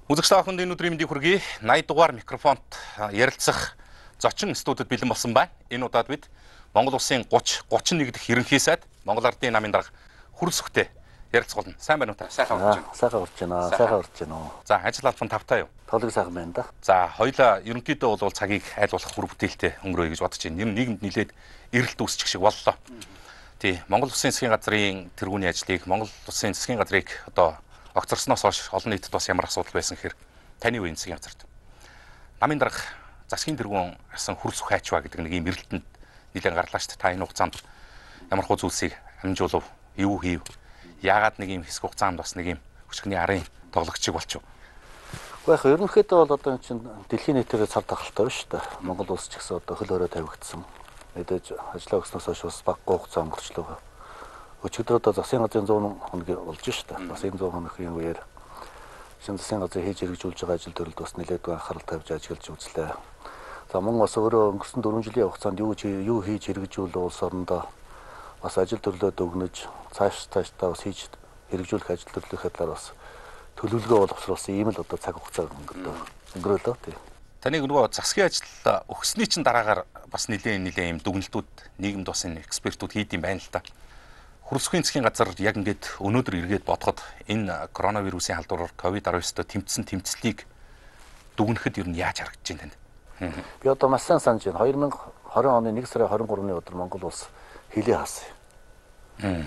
Үзэгчтэй охинд энэ өдрийн мэндийг хүргэе. 80 дугаар микрофонд ярилцах зочин студид бэлэн болсон байна. Энэ удаад бид Монгол улсын 31 дахь ерөнхий сайд Монгол Ардын намын дарга Хүрэлцэхтэй ярилцах болно. Сайн байна уу та? Сайхан урж байна. Сайхан урж байна. Сайхан урж байна. За, ажил албан тавтай юу? Тоглог сайхан байна да. За, хоёлаа ерөнхийдөө бол цагийг айл болох хүр бүтээлтэй өнгөрөөе гэж бодож байна. Нийгэмд нэлээд эрэлт үүсчих шиг боллоо. Тий, Монгол Улсын засгийн газрын тэргүүний ажлыг Монгол Улсын засгийн газрыг одоо огцорсноос хойш олон нийтэд бас ямар асуудал байсан гэхээр таны үеийн засгийн газарт намын дарга засгийн тэргүүн асан Хүрэлцэх хайчваа гэдэг нэг юм эрэлтэнд нэлээд гарлаа шүү дээ. Та энэ хугацаанд ямар хөө зүйлсийг амжуулав, юу хийв? Яагаад нэг юм хэсэг хугацаанд бас нэг юм өчгний арын тоглогч шиг болчих. Гэхдээ яг ерөнхийдөө бол одоо энэ чинь дэлхийн нийтээр цар тахалтай байна шүү дээ. Монгол улс ч гэсэн одоо хөл өрөө тавигдсан. Мэдээж ажиллаа өгснөөс хойш бас баггүй хугацаа өнгөрчлөө. Өчигдөр одоо засгийн газрын 100 хоног болж шүү дээ. Бас энэ 100 хоногийн үеэр шинэ засгийн газрын хийж хэрэгжүүлж байгаа ажил төрөлд бас нэлээдгүй анхаарал тавьж ажиглаж үзлээ. За мөн бас өөрөө өнгөрсөн 4 жилийн хугацаанд юу хийж хэрэгжүүлээ улс орондоо бас ажил төрлөөд өгнөж цаашдаа бас хийж хэрэгжүүлэх ажил төрлийнхээ талаар бас төлөвлөгөө боловсруулсан ийм л одоо цаг хугацаа өнгөрөөлөө тий. Таны нөгөө засгийн ажил өгсөний чинь дараагаар бас нэлээд юм дүгнэлтүүд нийгэмд бас энэ экспертүүд хийд юм байна л та. Хүрэлцэхийн засгийн газар яг ингээд өнөөдөр эргээд бодоход энэ коронавирусын халдвараар COVID-19-д тэмцсэн тэмцлийг дүгнэхэд ер нь яаж харагдаж байна танд? Би одоо маш сайн санаж байна. 2020 оны 1 сарын 23-ны өдөр Монгол улс хилээ хаасан.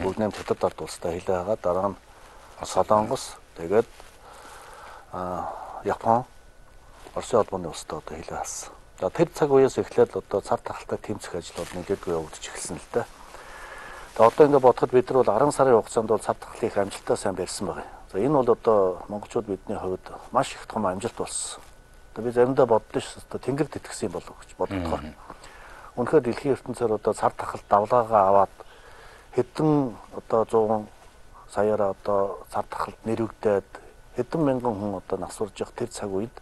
Бүгд нэм хятад ард улстай хилээ хаагаад дараа нь Солонгос тэгээд Япон, Оросын холбооны улстай одоо хилээ хаасан. За тэр цаг үеэс эхлээд одоо цар тахалтай тэмцэх ажил бол нэлээдгүй явагдаж эхэлсэн л дээ. Тэгээд одоо ингээд бодоход бид нар бол 10 сарын хугацаанд бол цар тахлын их амжилттай сайн барьсан байгаа. За энэ бол одоо монголчууд бидний хувьд маш их том амжилт болсон. Одоо би заримдаа боддоо ш одоо тэнгэр тэтгэсэн юм болов гэж боддогоо. Үнэхээр дэлхийн ертөнцөөр одоо цар тахал давлаагаа аваад хэдэн одоо 100 саяараа одоо цар тахалд нэрвэгдээд хэдэн мянган хүн одоо насварж явах тэр цаг үед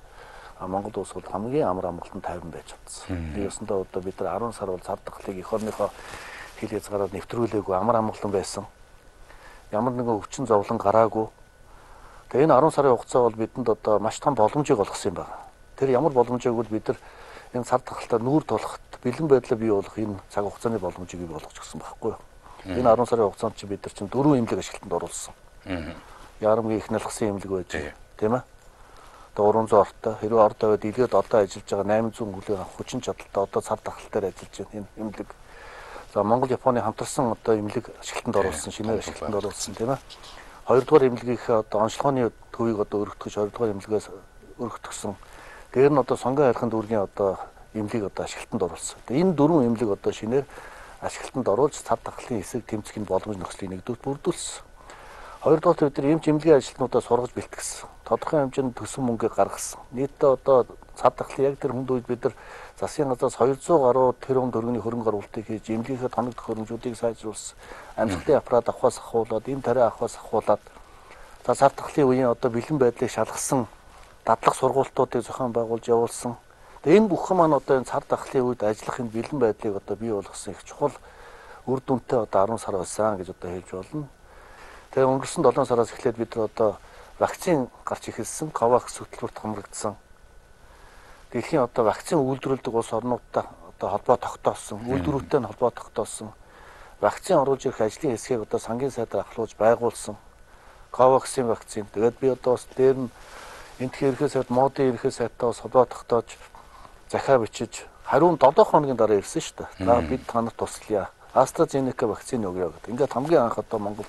Монгол улс бол хамгийн амар амгалан тайван байж чадсан. Тиймээсэндээ одоо бид нар 10 сар бол цар тахлыг эх орныхоо хил хязгаараар нэвтрүүлээгүй амар амгалан байсан. Ямар нэгэн өвчин зовлон гараагүй. Тэгээ энэ 10 сарын хугацаа бол бидэнд одоо маш том боломжийг олгосон юм байна. Тэр ямар боломжийг бол бид нар энэ цар тахалтаа нүүр тулахад бэлэн байдлаа бий болох энэ цаг хугацааны боломжийг бий болгож өгсөн байхгүй юу? Энэ 10 сарын хугацаанд чи бид нар чинь 4 эмнэлэг ашиглалтанд оруулсан. Ярамгийн их налхсан эмнэлэг байж, тийм ээ? Одоо 300 ортой хэрвээ орд аваад илгээд одоо ажиллаж байгаа 800 хүлээн авах хүчин чадалтай одоо цар тахал дээр ажиллаж байна энэ эмнэлэг. За Монгол Японы хамтарсан одоо эмнэлэг ашиглалтанд оруулсан, шинээр ашиглалтанд оруулсан, тийм ээ? Хоёрдугаар эмнэлгийнхээ одоо онцлогооны төвийг одоо өргөтгөж хоёрдугаар эмнэлгээс өргөтгсөн. Дээр нь одоо сонгон хайрханд дүүргийн одоо эмнэлийг одоо ашиглалтанд оруулсан. Энэ дөрвөн эмнэлэг одоо шинээр ашиглалтанд оруулж цар тахлын хэсэг тэмцэх боломж нөхцөлийг нэгдүгээр бүрдүүлсэн. Хоёрдугаар бид нар эмч эмнэлгийн ажилтнуудаа сургаж бэлтгэсэн. Тодорхой хэмжээнд төсөн мөнгө гаргасан. Нийтдээ одоо цар тахлын яг тэр хүнд үед бид нар засгийн газраас 200 гаруй тэрбум төгрөгийн хөрөнгө оруулалтыг хийж эмнэлгийнхээ тоног төхөөрөмжүүдийг сайжруулсан. Амьсгалын аппарат авахаас ахуулаад, эм тариа авахаас ахуулаад за цар тахлын үеийн одоо бэлэн байдлыг шалгасан дадлаг сургуулиудыг зохион байгуулж явуулсан. Тэгээ энэ бүхэн маань одоо энэ цар тахлын үед ажиллах энэ бэлэн байдлыг одоо бий болгосон их чухал үр дүнтэй одоо 10 сар байсан гэж одоо хэлж болно. Тэгээ өнгөрсөн 7 сараас эхлээд бид нар одоо вакцин гарч эхэлсэн, Ковакс хөтөлбөрт хамрагдсан. Дэлхийн одоо вакцин үйлдвэрлэдэг улс орнуудтай одоо холбоо тогтоосон, үйлдвэрүүтэй нь холбоо тогтоосон. Вакцин оруулж ирэх ажлын хэсгийг одоо сангийн сайдаар ахлуулж байгуулсан. Коваксийн вакцин. Тэгээд би одоо бас дээр нь энтхийн ерхий сайд, модын ерхий сайдтай бас холбоо тогтоож захиа бичиж хариун 7 хоногийн дараа ирсэн шүү дээ. За бид танарт туслая. AstraZeneca вакцины өгье гэдэг. Ингээд хамгийн анх одоо Монгол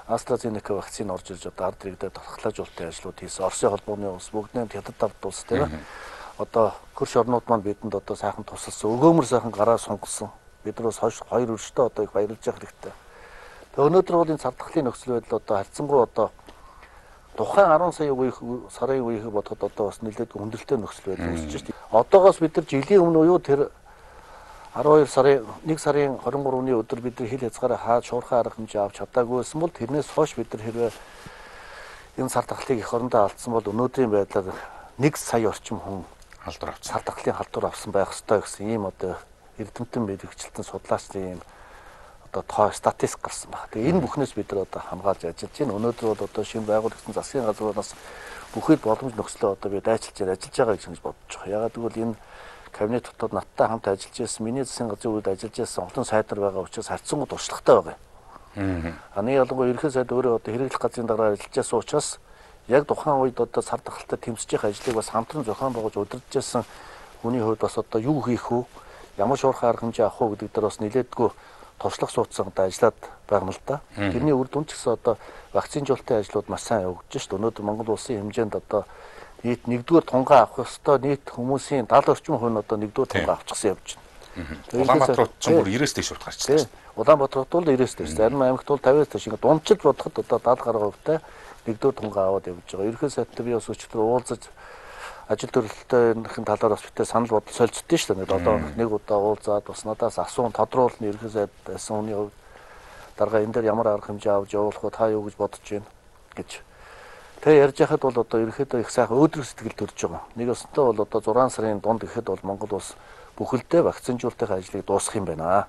AstraZeneca вакцины орж ирж одоо ард иргэдэд тархлаажуулалтын ажлууд хийсэн. Оросын холбооны улс, бүгднээ хятад ард улс тийм ээ. Одоо хөрш орнууд маань бидэнд одоо сайхан тусалсан. Өгөөмөр сайхан гараа сунгалсан. Бид нар бас хоёр өрштэй одоо их баярлаж явах хэрэгтэй. Тэгээ өнөөдөр бол энэ цар тахлын нөхцөл байдал одоо харьцангуй одоо тухайн 10 сарын үеийг бодоход одоо бас нэлээд хүндрэлтэй нөхцөл байдал үүсэж байна. Одоогоос бид нар жилийн өмнө уу тэр 12 сарын 1 сарын 23-ны өдөр бид нар хил хязгаараа хаад шуурхай арга хэмжээ авч чадаагүй байсан бол тэрнээс хойш бид нар хэрвээ энэ цар тахлыг эх орондоо алдсан бол өнөөдрийн байдлаар 1 сая орчим хүн халдвар авсан. Цар тахлын халдвар авсан байх ёстой гэсэн ийм одоо эрдэмтэн мэрэгчлэн судлаачдын ийм одоо тоо статистик гарсан байна. Тэгээ энэ бүхнээс бид нар одоо хамгаалж ажиллаж байна. Өнөөдөр бол одоо шинэ байгуулагдсан засгийн газрынаас бүхэл боломж нөхцөлөө одоо би ажиллаж байгаа гэж бодож байгаа. Ягаад гэвэл энэ кабинет дотоод надтай хамт ажиллаж байсан, миний засгийн газрын үед ажиллаж байсан олон сайдар байгаа учраас харьцангуй туршлагатай байгаа юм. Аны ялангуяа ерөнхий сайд өөрөө одоо хэрэглэх газрын дараа ажиллаж байсан учраас яг тухайн үед одоо сар дахалтай тэмцэж байгаа ажлыг бас хамтран зохион байгуулж удирдах байсан хүний хувьд бас одоо юу хийх вэ? Ямар шуурхай арга хэмжээ авах вэ гэдэг дээр бас нэлээдгүй туршлага суудсанд ажиллаад байгаа юм л да. Тэрний үр дүн ч гэсэн одоо вакцинжуулалтын ажлууд маш сайн явагдаж шүү дээ. Өнөөдөр Монгол улсын хэмжээнд одоо нийт 1-р тунгаан авах ёстой нийт хүмүүсийн 70 орчим хувь нь одоо 1-р тунгаан авчихсан явж байна. Улаанбаатар руу ч бүр 90-с дээш гарч ирсэн. Улаанбаатар бол 90-с дээш. Зарим аймагт бол 50-с дээш. Ингээд дундчил бодоход одоо 70 гаруй хувьтай 1-р тунгаан аваад явж байгаа. Ерөнхий сайдтай би бас өчигдөр уулзаж ажил төрөлтөйнийхэн талаар бас битээ санал бодол солилцдیں шүү дээ. Одоо нэг удаа уулзаад бас надаас асуун тодруулна ерөнхий сайд байсан хүний хувьд дарга энэ дээр ямар арга хэмжээ авч явуулах вэ? Та юу гэж бодож байна гэж. Тэгээ ярьж байхад бол одоо ерөнхийдөө их сайхан өөдрөг сэтгэл төрж байгаа. Нэг өстөө бол одоо 6 сарын дунд гэхэд бол Монгол улс бүхэлдээ вакцинжуулалтын ажлыг дуусгах юм байна.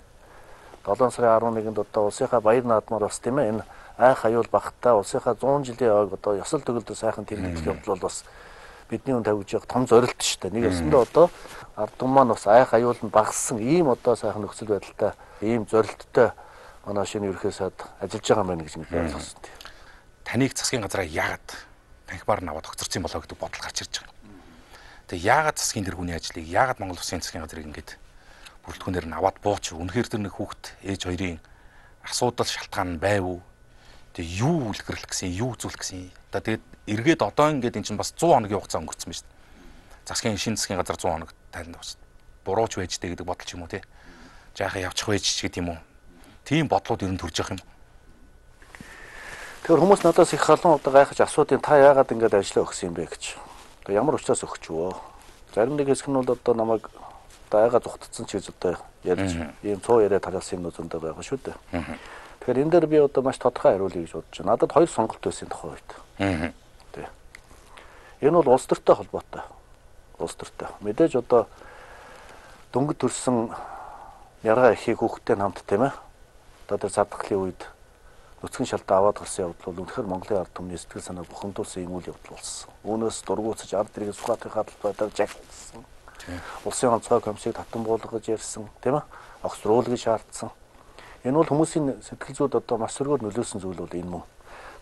7 сарын 11-нд одоо улсынхаа баяр наадмаар бас тийм ээ энэ айх аюул багтаа улсынхаа 100 жилийн ойг одоо ёсол төгөлдөр сайхан тэмдэглэх явдал бол бас бидний хүн тавьж явах том зорилт шүү дээ. Нэг өсөндөө одоо ард түмэн маань бас айх аюул нь багассан ийм одоо сайхан нөхцөл байдалтай ийм зорилттой манай шинэ ерөнхий сайд ажиллаж байгаа юм байна гэж нэг ойлгосон тийм. Таныг засгийн газараа яагаад танхимаар нь аваад огцорсон болоо гэдэг бодол гарч ирж байгаа. Тэгээ яагаад засгийн тэргүүний ажлыг яагаад Монгол Улсын засгийн газрыг ингэж бүрэлдэхүүнээр нь аваад бууч үнэхээр тэр нэг хүүхэд ээж хоёрын асуудал шалтгаан нь байв уу? Тэгээ юу үлгэрлэх гэсэн, юу үзүүлэх гэсэн. Одоо тэгээд эргээд одоо ингээд эн чинь бас 100 хоногийн хугацаа өнгөрцөн байна шүү дээ. Засгийн шинэ засгийн газар 100 хоног тайлбар бас бурууч байж дээ гэдэг бодол ч юм уу тий. Жаахан явчих байж ч гэдэг юм уу. Тийм бодлууд ер нь төрж явах юм. Тэгэхээр хүмүүс надаас их халуун удаа гайхаж асуудیں۔ Та яагаад ингэж ажиллаа өгсөн юм бэ гэж. Тэгээ ямар учраас өгч вөө. Зарим нэг хэсэг нь бол одоо намайг дайгаа зүхтцсан ч гэж одоо ярьж ийм цоо яриа талаасан юм зөндөө байгаа шүү дээ. Тэгэхээр энэ дээр би одоо маш тодорхой хариулъя гэж бодож байна. Надад хоёр сонголт байсан тухай үед. Тий. Энэ бол улс төртэй холбоотой. Улс төртэй. Мэдээж одоо дөнгөж төрсэн ярга ихийг хүүхдтэй хамт тийм ээ. Одоо тэр цадгалын үед нүцгэн шалтаа аваад гарсан явдал бол үнэхээр Монголын ард түмний сэтгэл санааг бухимдуулсан юм үйл явдал болсон. Үүнээс дургуутсаж ард иргэн Сүхбаатарын хадгалбайдаар жагсан. Улсын онцгой комиссийг татан буулгаж ярьсан, тийм ээ? Огцруулгыг шаардсан. Энэ бол хүмүүсийн сэтгэл зүйд одоо маш сөргөөр нөлөөсөн зүйл бол энэ мөн.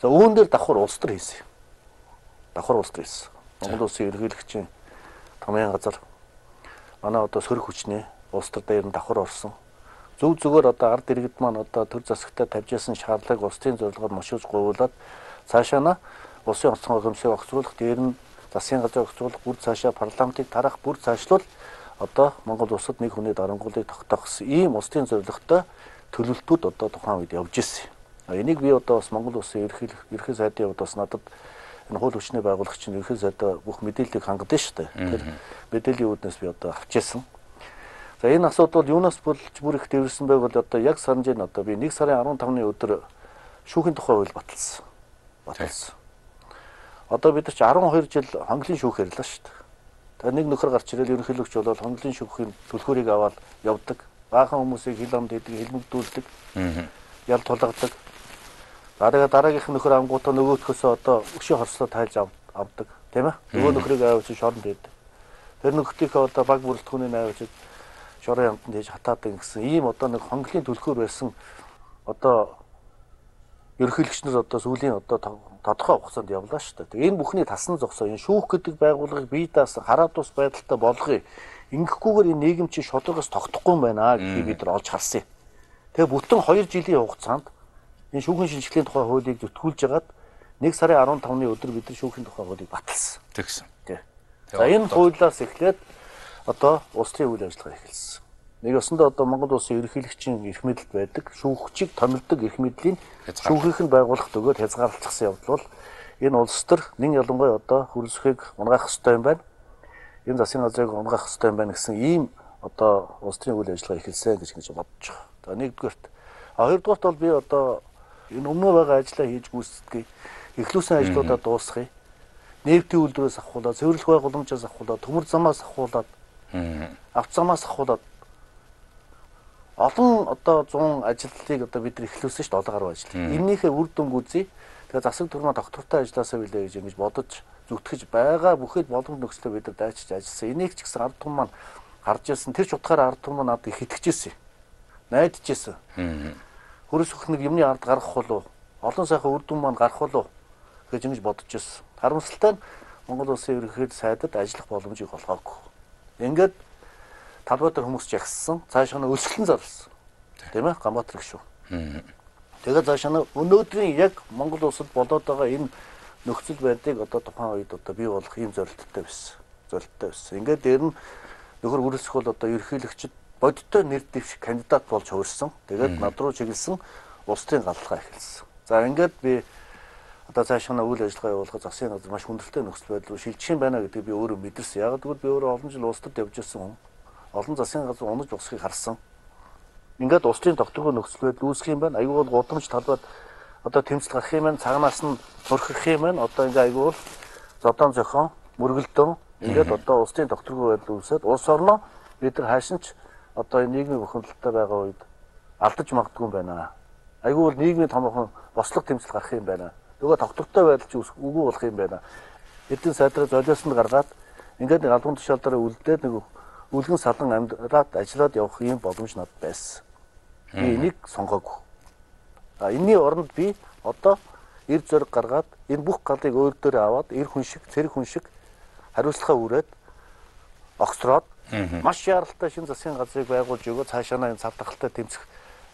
За үүн дээр давхар улс төр хийсэн. Давхар улс төр хийсэн. Монгол улсын ерөнхийлөгчийн томьёон газар манай одоо сөрөг хүчний улс төр дээр нь давхар орсон. Зөв зүгээр одоо ард иргэд маань одоо төр засагтай тавьж ясан шаардлагыг улсын зорилгоор мошиж гуйлаад цаашаа на улсын онцгой комиссийг огцруулах, дээр нь засгийн газрыг огцруулах, бүр цаашаа парламентыг тарах, бүр цаашлуул одоо Монгол улсад нэг хүний дарангуулыг тогтоох ийм улсын зорилготой төлөвлөлтүүд одоо тухайн үед явж ирсэн. Энийг би одоо бас Монгол улсын ерөнхий сайдын хувьд бас надад энэ хууль хүчний байгуулагч нь ерөнхий сайдаа бүх мэдээллийг хангадаг шүү дээ. Тэр мэдээллийн үүднээс би одоо авч ирсэн. За энэ асуудал юунаас болж бүр их дэвэрсэн байг бол одоо яг санаж байна. Одоо би 1 сарын 15-ны өдөр шүүхийн тухай хууль баталсан. Одоо бид ч 12 жил хонглын шүүх ярьлаа шүү дээ. Тэгээ нэг нөхөр гарч ирэл ерөнхийлөгч болол хонглын шүүхийн түлхүүрийг аваад явдаг. Баахан хүмүүсийг хил амд хийдэг, хэлмэгдүүлдэг. Ял тулгадаг. Дараагийнх нь нөхөр ангуудаа нөгөөдхөөсөө одоо өшөө хорслоо тайлж авдаг, тийм ээ? Нөгөө нөхрийг аваад шоронд хийдэг. Тэр нөхрийнхөө одоо баг бүрэлдэхүүнийг аваад шорон ямтанд хийж хатаадаг гэсэн ийм одоо нэг хонглын түлхүүр байсан одоо ерөнхийлөгчнөр одоо сүүлийн одоо тодорхой хугацаанд явлаа шүү дээ. Энэ бүхний тасн зогсоо энэ шүүх гэдэг байгууллагыг бие даасан хараад ус байдалтай болгоё. Ингэхгүйгээр энэ нийгэм чинь шударгаас тогтохгүй юм байна гэдгийг бид нар олж харсан юм. Тэгээ бүтэн 2 жилийн хугацаанд энэ шүүхийн шинжилгээний тухай хуулийг зүтгүүлж хагаад 1 сарын 15-ны өдөр бид нар шүүхийн тухай хуулийг баталсан. Тэгсэн. За энэ хуулиас эхлээд одоо улсын үйл ажиллагаа эхэлсэн. Нэг өсөндөө одоо Монгол улсын ерөнхийлөгчийн эрх мэдэлд байдаг шүүгчийг томилдог эрх мэдлийн шүүхийнх нь байгуулах төгөөд хязгаарлагдсан явдал бол энэ улс төр нэн ялангуяа одоо хөрөлсөхийг унгаах ёстой юм байна. Энэ засгийн газрыг унгаах ёстой юм байна гэсэн ийм одоо улс төрийн үйл ажиллагаа эхэлсэн гэж бодож байгаа. За нэгдүгээрт. Хоёрдугаарт бол би одоо энэ өмнө байгаа ажлаа хийж гүйцэтгэе. Эхлүүлсэн ажлуудаа дуусгая. Нефтийн үйлдвэрээс авахуулаад, цэвэрлэх байгууламжаас авахуулаад, төмөр замаас авахуулаад, авто замаас авахуулаад олон одоо 100 ажилтныг одоо бид нар эхлүүлсэн шүү дээ 7 гаруй ажил. Эннийхээ үр дүнг үзье. Тэгээ засаг турмаа доктортой ажилласаа билээ гэж ингэж бодож зүтгэж байгаа бүхэд боломж нөхцөлөө бид нар дайчиж ажилласан. Энийг ч гэсэн ард түмэн маань гарч ирсэн. Тэр ч утгаараа ард түмэн надад их итгэжсэн. Найдажсэн. Хөрөс өхнөг юмны ард гарах болов. Олон сайхан үр дүн маань гарах болов гэж ингэж бодож ирсэн. Харамсалтай нь Монгол улсын ерөнхий сайдад ажиллах боломжийг олгоогүй. Ингээд талбайтар хүмүүс жагссан. Цаашаа нь өсгөлн зарлсан. Тийм ээ? Гамбатар гişүү. Тэгээд цаашаа нь өнөөдрийн яг Монгол улсад болоод байгаа энэ нөхцөл байдлыг одоо тухайн үед одоо бий болох юм зорилттой байсан. Зорилттой байсан. Ингээд дээр нь нөхөр үрэлсэх бол одоо ерөнхийлөгчд бодиттой нэр дэвших кандидат болж хуурсан. Тэгээд над руу чиглэсэн улс төрийн галдлага эхэлсэн. За ингээд би одоо цаашаа үйл ажиллагаа явуулах засгийн газар маш хүндрэлтэй нөхцөл байдал руу шилжих юм байна гэдгийг би өөрөө мэдэрсэн. Яг гэвэл би өөрөө олон жил улс төрд явж ирсэн хүн. Олон засгийн газар унаж босхийг харсан. Ингээд улс төрийн тогтвортой нөхцөл байдал үүсэх юм байна. Айгүй бол гудамж талбайд одоо тэмцэл гарах юм байна. Цагнаас нь нурхах юм байна. Одоо ингээд айгүй бол зодон зохион мөргөлдөн ингээд одоо улс төрийн тогтвортой байдал үүсээд улс орноо бид нар хаашин ч одоо энэ нийгмийн бухимдалтай байгаа үед алдаж магадгүй юм байна. Айгүй бол нийгмийн томоохон бослог тэмцэл гарах юм байна. Нөгөө тогтвортой байдал ч үгүй болох юм байна. Эдийн сайдраа золиосонд гаргаад ингээд нэг албан тушаалаараа үлдээд нэг үлгэн салан амьдраад ажиллаад явах юм боломж надад байсан. Би энийг сонгоогүй. Энэний оронд би одоо эр зориг гаргаад энэ бүх галыг өөр дөрөө аваад эр хүн шиг, цэрэг хүн шиг хариуцлагаа үрээд огцроод маш яралтай шинэ засгийн газрыг байгуулж өгөө цаашаа энэ цав тахалтай тэмцэх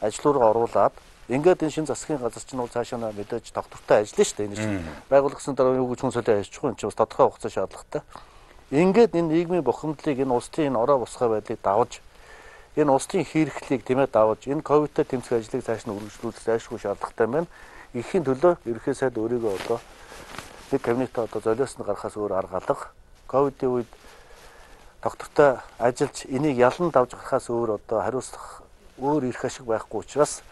ажлуудаа оруулаад ингээд энэ шинэ засгийн газар чинь бол цаашаа мэдээж тогтвортой ажиллана шүү дээ. Энэ чинь байгуулагдсан дараа юу гэж хүн солио ажиллах юм чинь бас тодорхой хугацаа шаардлагатай. Ингээд энэ нийгмийн бухимдлыг энэ улсын энэ ороо босгоо байдлыг давж энэ улсын хэрэглийг тийм ээ давж энэ ковидтэй тэмцэх ажлыг цааш нь үргэлжлүүлэх зайлшгүй шаардлагатай байна. Ихийн төлөө ерөнхий сайд өөрийгөө одоо нэг кабинетаа одоо золиосонд гарахаас өөр арга алга. Ковидын үед доктортой ажиллаж энийг ялан давж гарахаас өөр одоо хариуцлах өөр ирэх ашиг байхгүй учраас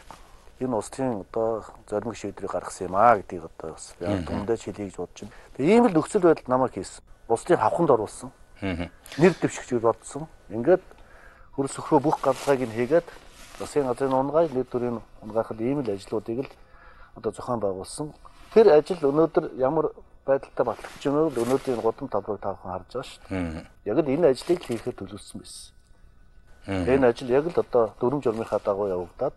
энэ улсын одоо зоримог шийдвэрийг гаргасан юм аа гэдгийг одоо бас дундаж хэлье гэж бодож байна. Тэгээ ийм л нөхцөл байдал намайг хийсэн. Улсын хавханд оруулсан. Нэр дэвшигч бодсон. Ингээд хөрс өхрөө бүх галлагыг нь хийгээд засгийн газрын унгай нэр төрийн унгаахад ийм л ажлуудыг л одоо зохион байгуулсан. Тэр ажил өнөөдөр ямар байдалтай батлагдж байна вэ? Өнөөдрийн гудам талбайг таахан харж байгаа шүү дээ. Яг л энэ ажлыг хийхэд төлөвлөсөн байсан. Энэ ажил яг л одоо дүрм журмынхаа дагуу явагдаад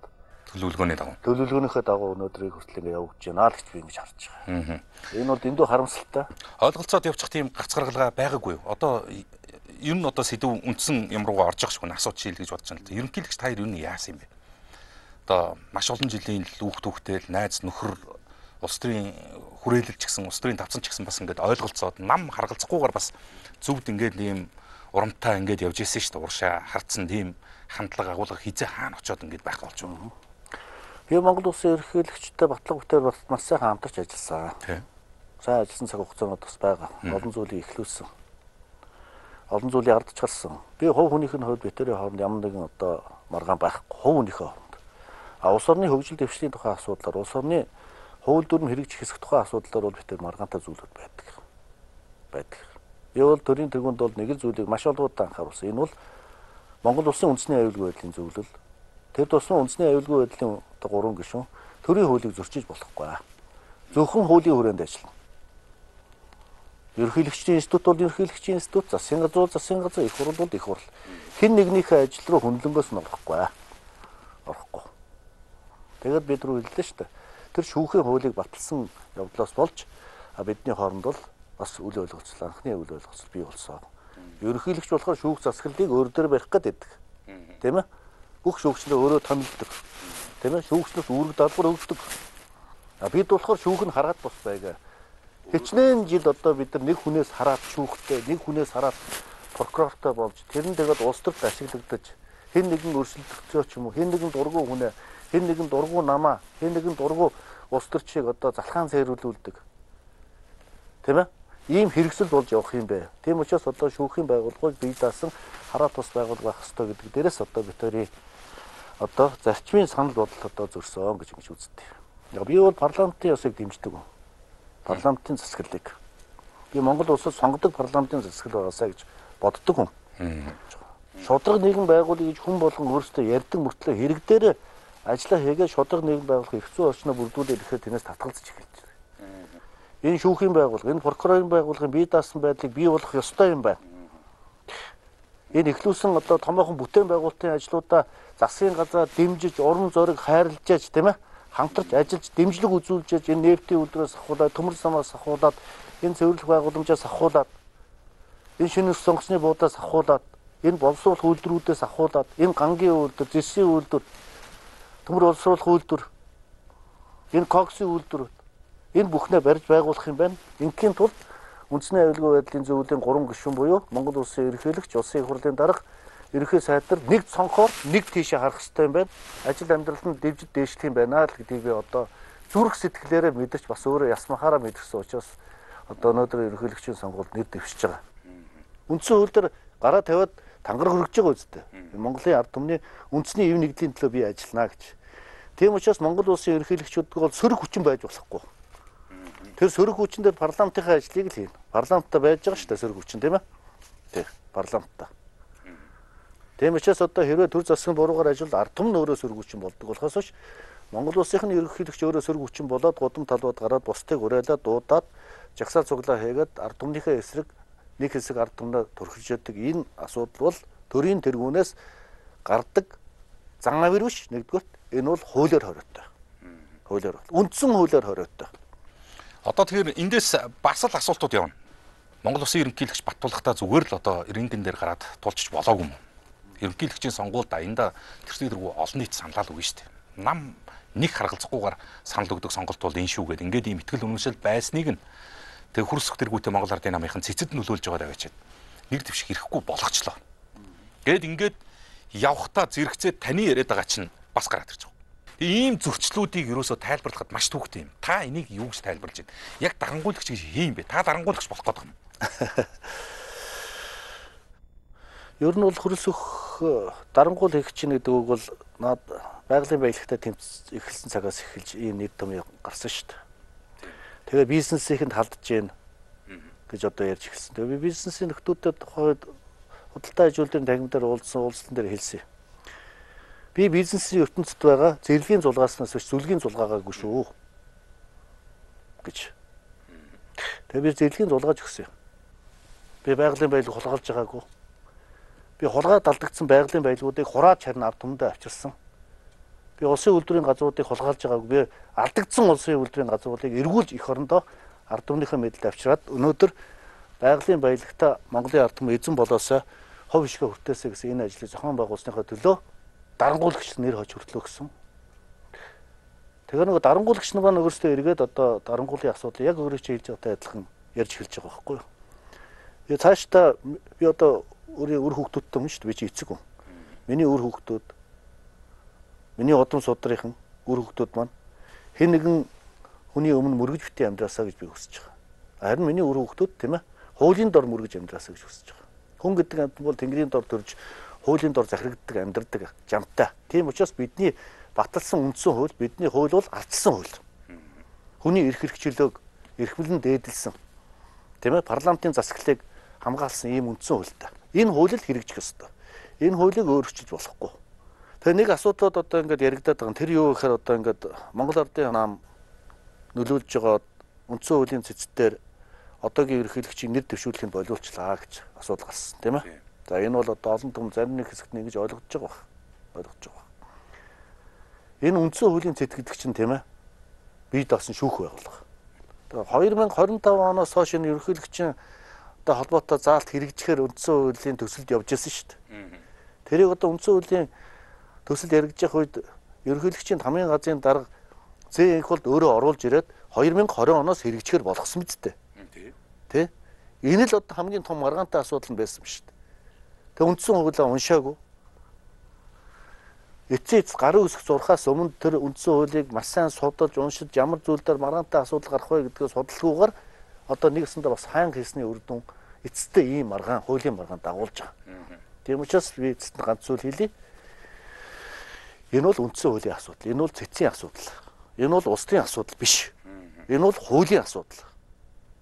төлөвлөгөөнийхөө дагуу өнөөдрийг хүртэл ингэ явагдаж байна л гэж би ингэж харж байгаа. Энэ бол дэндүү харамсалтай. Ойлголцоод явчих тийм гарц гаргалгаа байгаагүй юу? Одоо ер нь одоо сэдв үндсэн юм руугаа орж явах шиг нэг асууж шийл гэж бодож байна л да. Ерөнхийлөгч та хоёр юу яасан юм бэ? Одоо маш олон жилийн хүүхдүүхтэй найз нөхөр улс төрийн хүрээлэл ч гэсэн улс төрийн давцан ч гэсэн бас ингээд ойлголцоод нам харгалзахгүйгээр бас зөвд ингээд ийм урамтай ингээд явж ирсэн шүү дээ. Уршаа хардсан тийм хандлага агуулга хизээ хаана очиод ингээд байх болж байна. Би Монгол улсын ерөнхийлөгчтэй батлага бүтээр бас сайхан хамтарч ажилласан. Сайн ажилласан цаг хугацаанд бас байгаа. Олон зүйлийг эхлүүлсэн. Олон зүйлийг ардч гарсан. Би хувь хүнийхээ хувьд битэрийн хооронд ямар нэгэн одоо маргаан байхгүй. Хувь хүнийхээ хооронд. Улс орны хөгжил дэвшлийн тухай асуудлаар, улс орны хууль дүрм хэрэгжих хэсэг тухай асуудлаар бол битэр маргаантай зүйлүүд байдаг. Би бол төрийн тэргуунд бол нэг л зүйлийг маш олбуудаа анхааруулсан. Энэ бол Монгол улсын үндэсний аюулгүй байдлын зөвлөл. Тэр тусмаа үндэсний аюулгүй байдлын одоо 3 гишүүн төрийн хуулийг зөрчиж болохгүй. Зөвхөн хуулийн хүрээнд ажиллана. Ерөнхийлөгчдийн институт бол ерөнхийлөгчдийн институт, засгийн газар бол засгийн газар, их хурл бол их хурл. Хэн нэгнийхээ ажил руу хөндлөнгөөс нь орохгүй. Тэгээд бид рүү хэллээ шүү дээ. Тэр шүүхийн хуулийг баталсан явдлаас болж бидний хооронд бол бас үл ойлголцол, анхны үл ойлголцол бий болсон. Ерөнхийлөгч болохоор шүүх засаглалыг өөр дөр барих гэдэг. Тийм ээ? Бүх шүүгчнээ өөрөө томилдог. Тийм ээ? Шүүгчнээс үүрэг даалгавар өгдөг. Бид болохоор шүүх нь хараад бос байгаа. Хичнээн жил одоо бид нар нэг хүнээс хараад шүүхтэй, нэг хүнээс хараад прокурортой болж тэр нь тэгээд улс төрд ашиглагдаж хэн нэгэн өрсөлдөгчөө ч юм уу, хэн нэгэн дургу хүнээ, хэн нэгэн дургу намаа, хэн нэгэн дургу улс төрчийг одоо залхаан цайруулдаг. Тийм ээ? Ийм хэрэгсэл болж явах юм бэ. Тийм учраас одоо шүүхийн байгууллагыг бие даасан хараа тус байгуулга байх ёстой гэдэг дээрээс одоо битэрийн одоо зарчмын санал бодол одоо зөрсөн гэж үздэг. Би бол парламентын ёсыг дэмждэг. Парламентын засаглалыг. Би Монгол улсад сонгодог парламентын засаглал байгаасаа гэж боддог хүн. Шударга нийгэм байгуулъя гэж хүн болгон өөрсдөө ярьдаг мөртлөө хэрэг дээр ажиллаа хийгээ шударга нийгэм байгуулах эрх зүйн орчноо бүрдүүлээд ирэхэд тэрнээс татгалзаж эхэлж байна. Энэ шүүхийн байгууллага, энэ прокурорын байгууллагын бие даасан байдлыг бий болгох ёстой юм байна. Энэ эхлүүлсэн одоо томоохон бүтээн байгуулалтын ажлуудаа засгийн газар дэмжиж, урам зориг хайрлаж яаж тийм ээ хамтарч ажиллаж дэмжлэг үзүүлж яаж энэ нефтийн үйлдвэрээс ахуулаад, төмөр самаас ахуулаад, энэ цэвэрлэх байгууламжаас ахуулаад, энэ шинэ сонгоцны буудаас ахуулаад, энэ боловсруулах үйлдвэрүүдээс ахуулаад, энэ гангийн үйлдвэр, зэсийн үйлдвэр, төмөр боловсруулах үйлдвэр, энэ коксийн үйлдвэрүүд энэ бүхнээ барьж байгуулах юм байна. Ингийн тулд үндэсний аюулгүй байдлын зөвлөлийн 3 гишүүн буюу Монгол улсын ерөнхийлөгч, улсын их хурлын дарга, ерөнхий сайдар нэг цонхоор нэг тийшээ харах хэрэгтэй юм байна. Ажил амьдралд нь дэвжид дээшлэх юм байна л гэдгийг би одоо зүрх сэтгэлээрээ мэдэрч бас өөрөө ясмахаараа мэдэрсэн учраас одоо өнөөдөр ерөнхийлөгчийн сонгуульд нэр дэвшиж байгаа. Үндсэн хууль дээр гараа тавиад тангар хөргөж байгаа үстэй. Монголын ард түмний үндэсний эв нэгдлийн төлөө би ажиллана гэж. Тийм учраас Монгол улсын ерөнхийлөгчүүд бол сөрөг хүчин байж болохгүй. Тэр сөрөг хүчин дээр парламентын ажлыг л хийнэ. Парламентта байж байгаа шүү дээ сөрөг хүчин тийм ээ. Тийм парламентта. Тийм учраас одоо хэрвээ төр засгийн буруугаар ажиллавал ард түмэн өөрөө сөрөг хүчин болдог болохоос биш Монгол улсынхны ерөнхийлөгч өөрөө сөрөг хүчин болоод гудам талбад гараад бусдыг уриалаад дуудаад жагсаал цуглаа хийгээд ард түмнийхээ эсрэг нэг хэсэг ард түмнээ турхилж яадаг энэ асуудал бол төрийн тэргүүнээс гардаг зан авир биш нэгдүгээр энэ бол хуулиар хориотой. Хуулиар. Үндсэн хуулиар хориотой. Одоо тэгэхээр эндээс бас л асуултууд явна. Монгол улсын ерөнхийлөгч Баттулгатаа зүгээр л одоо рингэн дээр гараад тулчиж болоогүй юм. Ерөнхийлөгчийн сонгуульд аянда тэрсний дэргүү олон нийт саналаа л үгүй шүү дээ. Нам нэг харгалзахгүйгээр санал өгдөг сонголт бол энэ шүү гэдэг. Ингээд ийм ихтгэл үнэмшил байсныг нь тэг хөрсөх тэргүүтээ Монгол Ардын намынхан цэцэд нөлөөлж байгаа аваачаад нэг дэвших ирэхгүй болгочлоо. Ингээд явхтаа зэрэгцээ таны яриад байгаа чинь бас гараад ирж байгаа. Ийм зөрчлүүдийг ерөөсөө тайлбарлахад маш төвөгтэй юм. Та энийг юу гэж тайлбарлаж байна? Яг дарангуйлагч гэж хийм бэ? Та дарангуйлагч болох гэдэг юм. Ер нь бол хөрөлсөх дарангуул хийх чинь гэдэг үг бол наад байгалийн баялагтай тэмц эхэлсэн цагаас эхэлж ийм нэг том гарсан шүү дээ. Тэгээ бизнесийнхэнд халдж гин гэж одоо ярьж эхэлсэн. Тэгээ би бизнесийн нөхдүүдэд тухайд худалдаа ажилтны тагмаар уулзсан дээр хэлсэн. Би бизнесийн ертөнцид байгаа зэрлэгийн зулгааснаас биш зүлгийн зулгаагаагүй шүү гэж. Тэгээ би зэрлэгийн зулгааж өгсөн. Би байгалийн баялаг хулгайлж байгаагүй. Би хулгай далдагдсан байгалийн баялагуудыг хураад харин ард түмэндээ авчирсан. Би улсын үйлдвэрийн газруудыг хулгайлж байгаагүй. Би алдагдсан улсын үйлдвэрийн газруудыг эргүүлж их орондоо ард түмнийхээ мэдэлд авчираад өнөөдөр байгалийн баялагта Монголын ард түмэн эзэн болоосоо хов ишгэ хүртээсэй гэсэн энэ ажлыг зохион байгуулсныхаа төлөө дарангуулагч нэр хож хүртлөө гэсэн. Тэгэхээр нөгөө дарангуулагч нар маань өөрсдөө эргээд одоо дарангуулын асуудал яг өөрөө чи хэлж байгаатай адилхан ярьж эхэлж байгаа байхгүй юу. Тэгээ цаашдаа би одоо өөрийн үр хүүхдүүдтэй хүн шүү дээ. Би чи эцэг хүн. Миний үр хүүхдүүд, миний удам судрынхан үр хүүхдүүд маань хэн нэгэн хүний өмнө мөргөж битээ амьдраасаа гэж би хүсэж байгаа. Харин миний үр хүүхдүүд тийм ээ хуулийн дор мөргөж амьдраасаа гэж хүсэж байгаа. Хүн гэдэг амьтан бол тэнгэрийн дор төрж хуулийн дор захирагддаг, амьдардаг, жамтай. Тийм учраас бидний баталсан үндсэн хууль, бидний хууль бол ардсан хууль. Хүний эрх хэрэгчлөөг эрхмэлэн дээдэлсэн. Тийм ээ парламентын засаглалыг хамгаалсан ийм үндсэн хуультай. Энэ хуулийг хэрэгжих ёстой. Энэ хуулийг өөрчилж болохгүй. Тэгээ нэг асуудлууд одоо ингээд яригадаад байгаа. Тэр юу гэхээр одоо ингээд Монгол Ардын нам нөлөөлж байгаа үндсэн хуулийн цэцтээр одоогийн ерөнхийлөгчийн нэр дэвшүүлэхийг болиулчлаа гэж асуудал гарсан, тийм ээ. За энэ бол одоо олон том зарим нэг хэсэгт ингэж ойлгож байгаа байна. Ойлгож байгаа. Энэ үндсэн хуулийн цэцгэлдэг чинь тийм ээ. Бие даасан шүүх байгууллага. Тэгээ 2025 оноос хойш энэ ерөнхийлөгчийн одоо холбоотой заалт хэрэгжихээр үндсэн хуулийн төсөлд явж ирсэн шүү дээ. Тэрийг одоо үндсэн хуулийн төсөл яригдчих үед ерөнхийлөгчийн хамгийн газрын дарга зээнх болд өөрөө оруулж ирээд 2020 оноос хэрэгжихээр болгосон мэт дээ. Тэ? Энэ л одоо хамгийн том маргаантай асуудал нь байсан шүү дээ. Тэг үндсэн хуулиа уншаагүй. Эцээц гарын үсэх зурхаас өмнө тэр үндсэн хуулийг маш сайн судалж уншиж ямар зүйл дээр маргаантай асуудал гарах вэ гэдгээ судалгаагаар одоо нэгсэндээ бас хаан хийсний үр дүн эцэстээ ийм маргаан хуулийн маргаан дагуулж байгаа. Тийм учраас би эцэст нь ганц зүйл хэлье. Энэ бол үндсэн хуулийн асуудал. Энэ бол цэцгийн асуудал. Энэ бол улсын асуудал биш. Энэ бол хуулийн асуудал.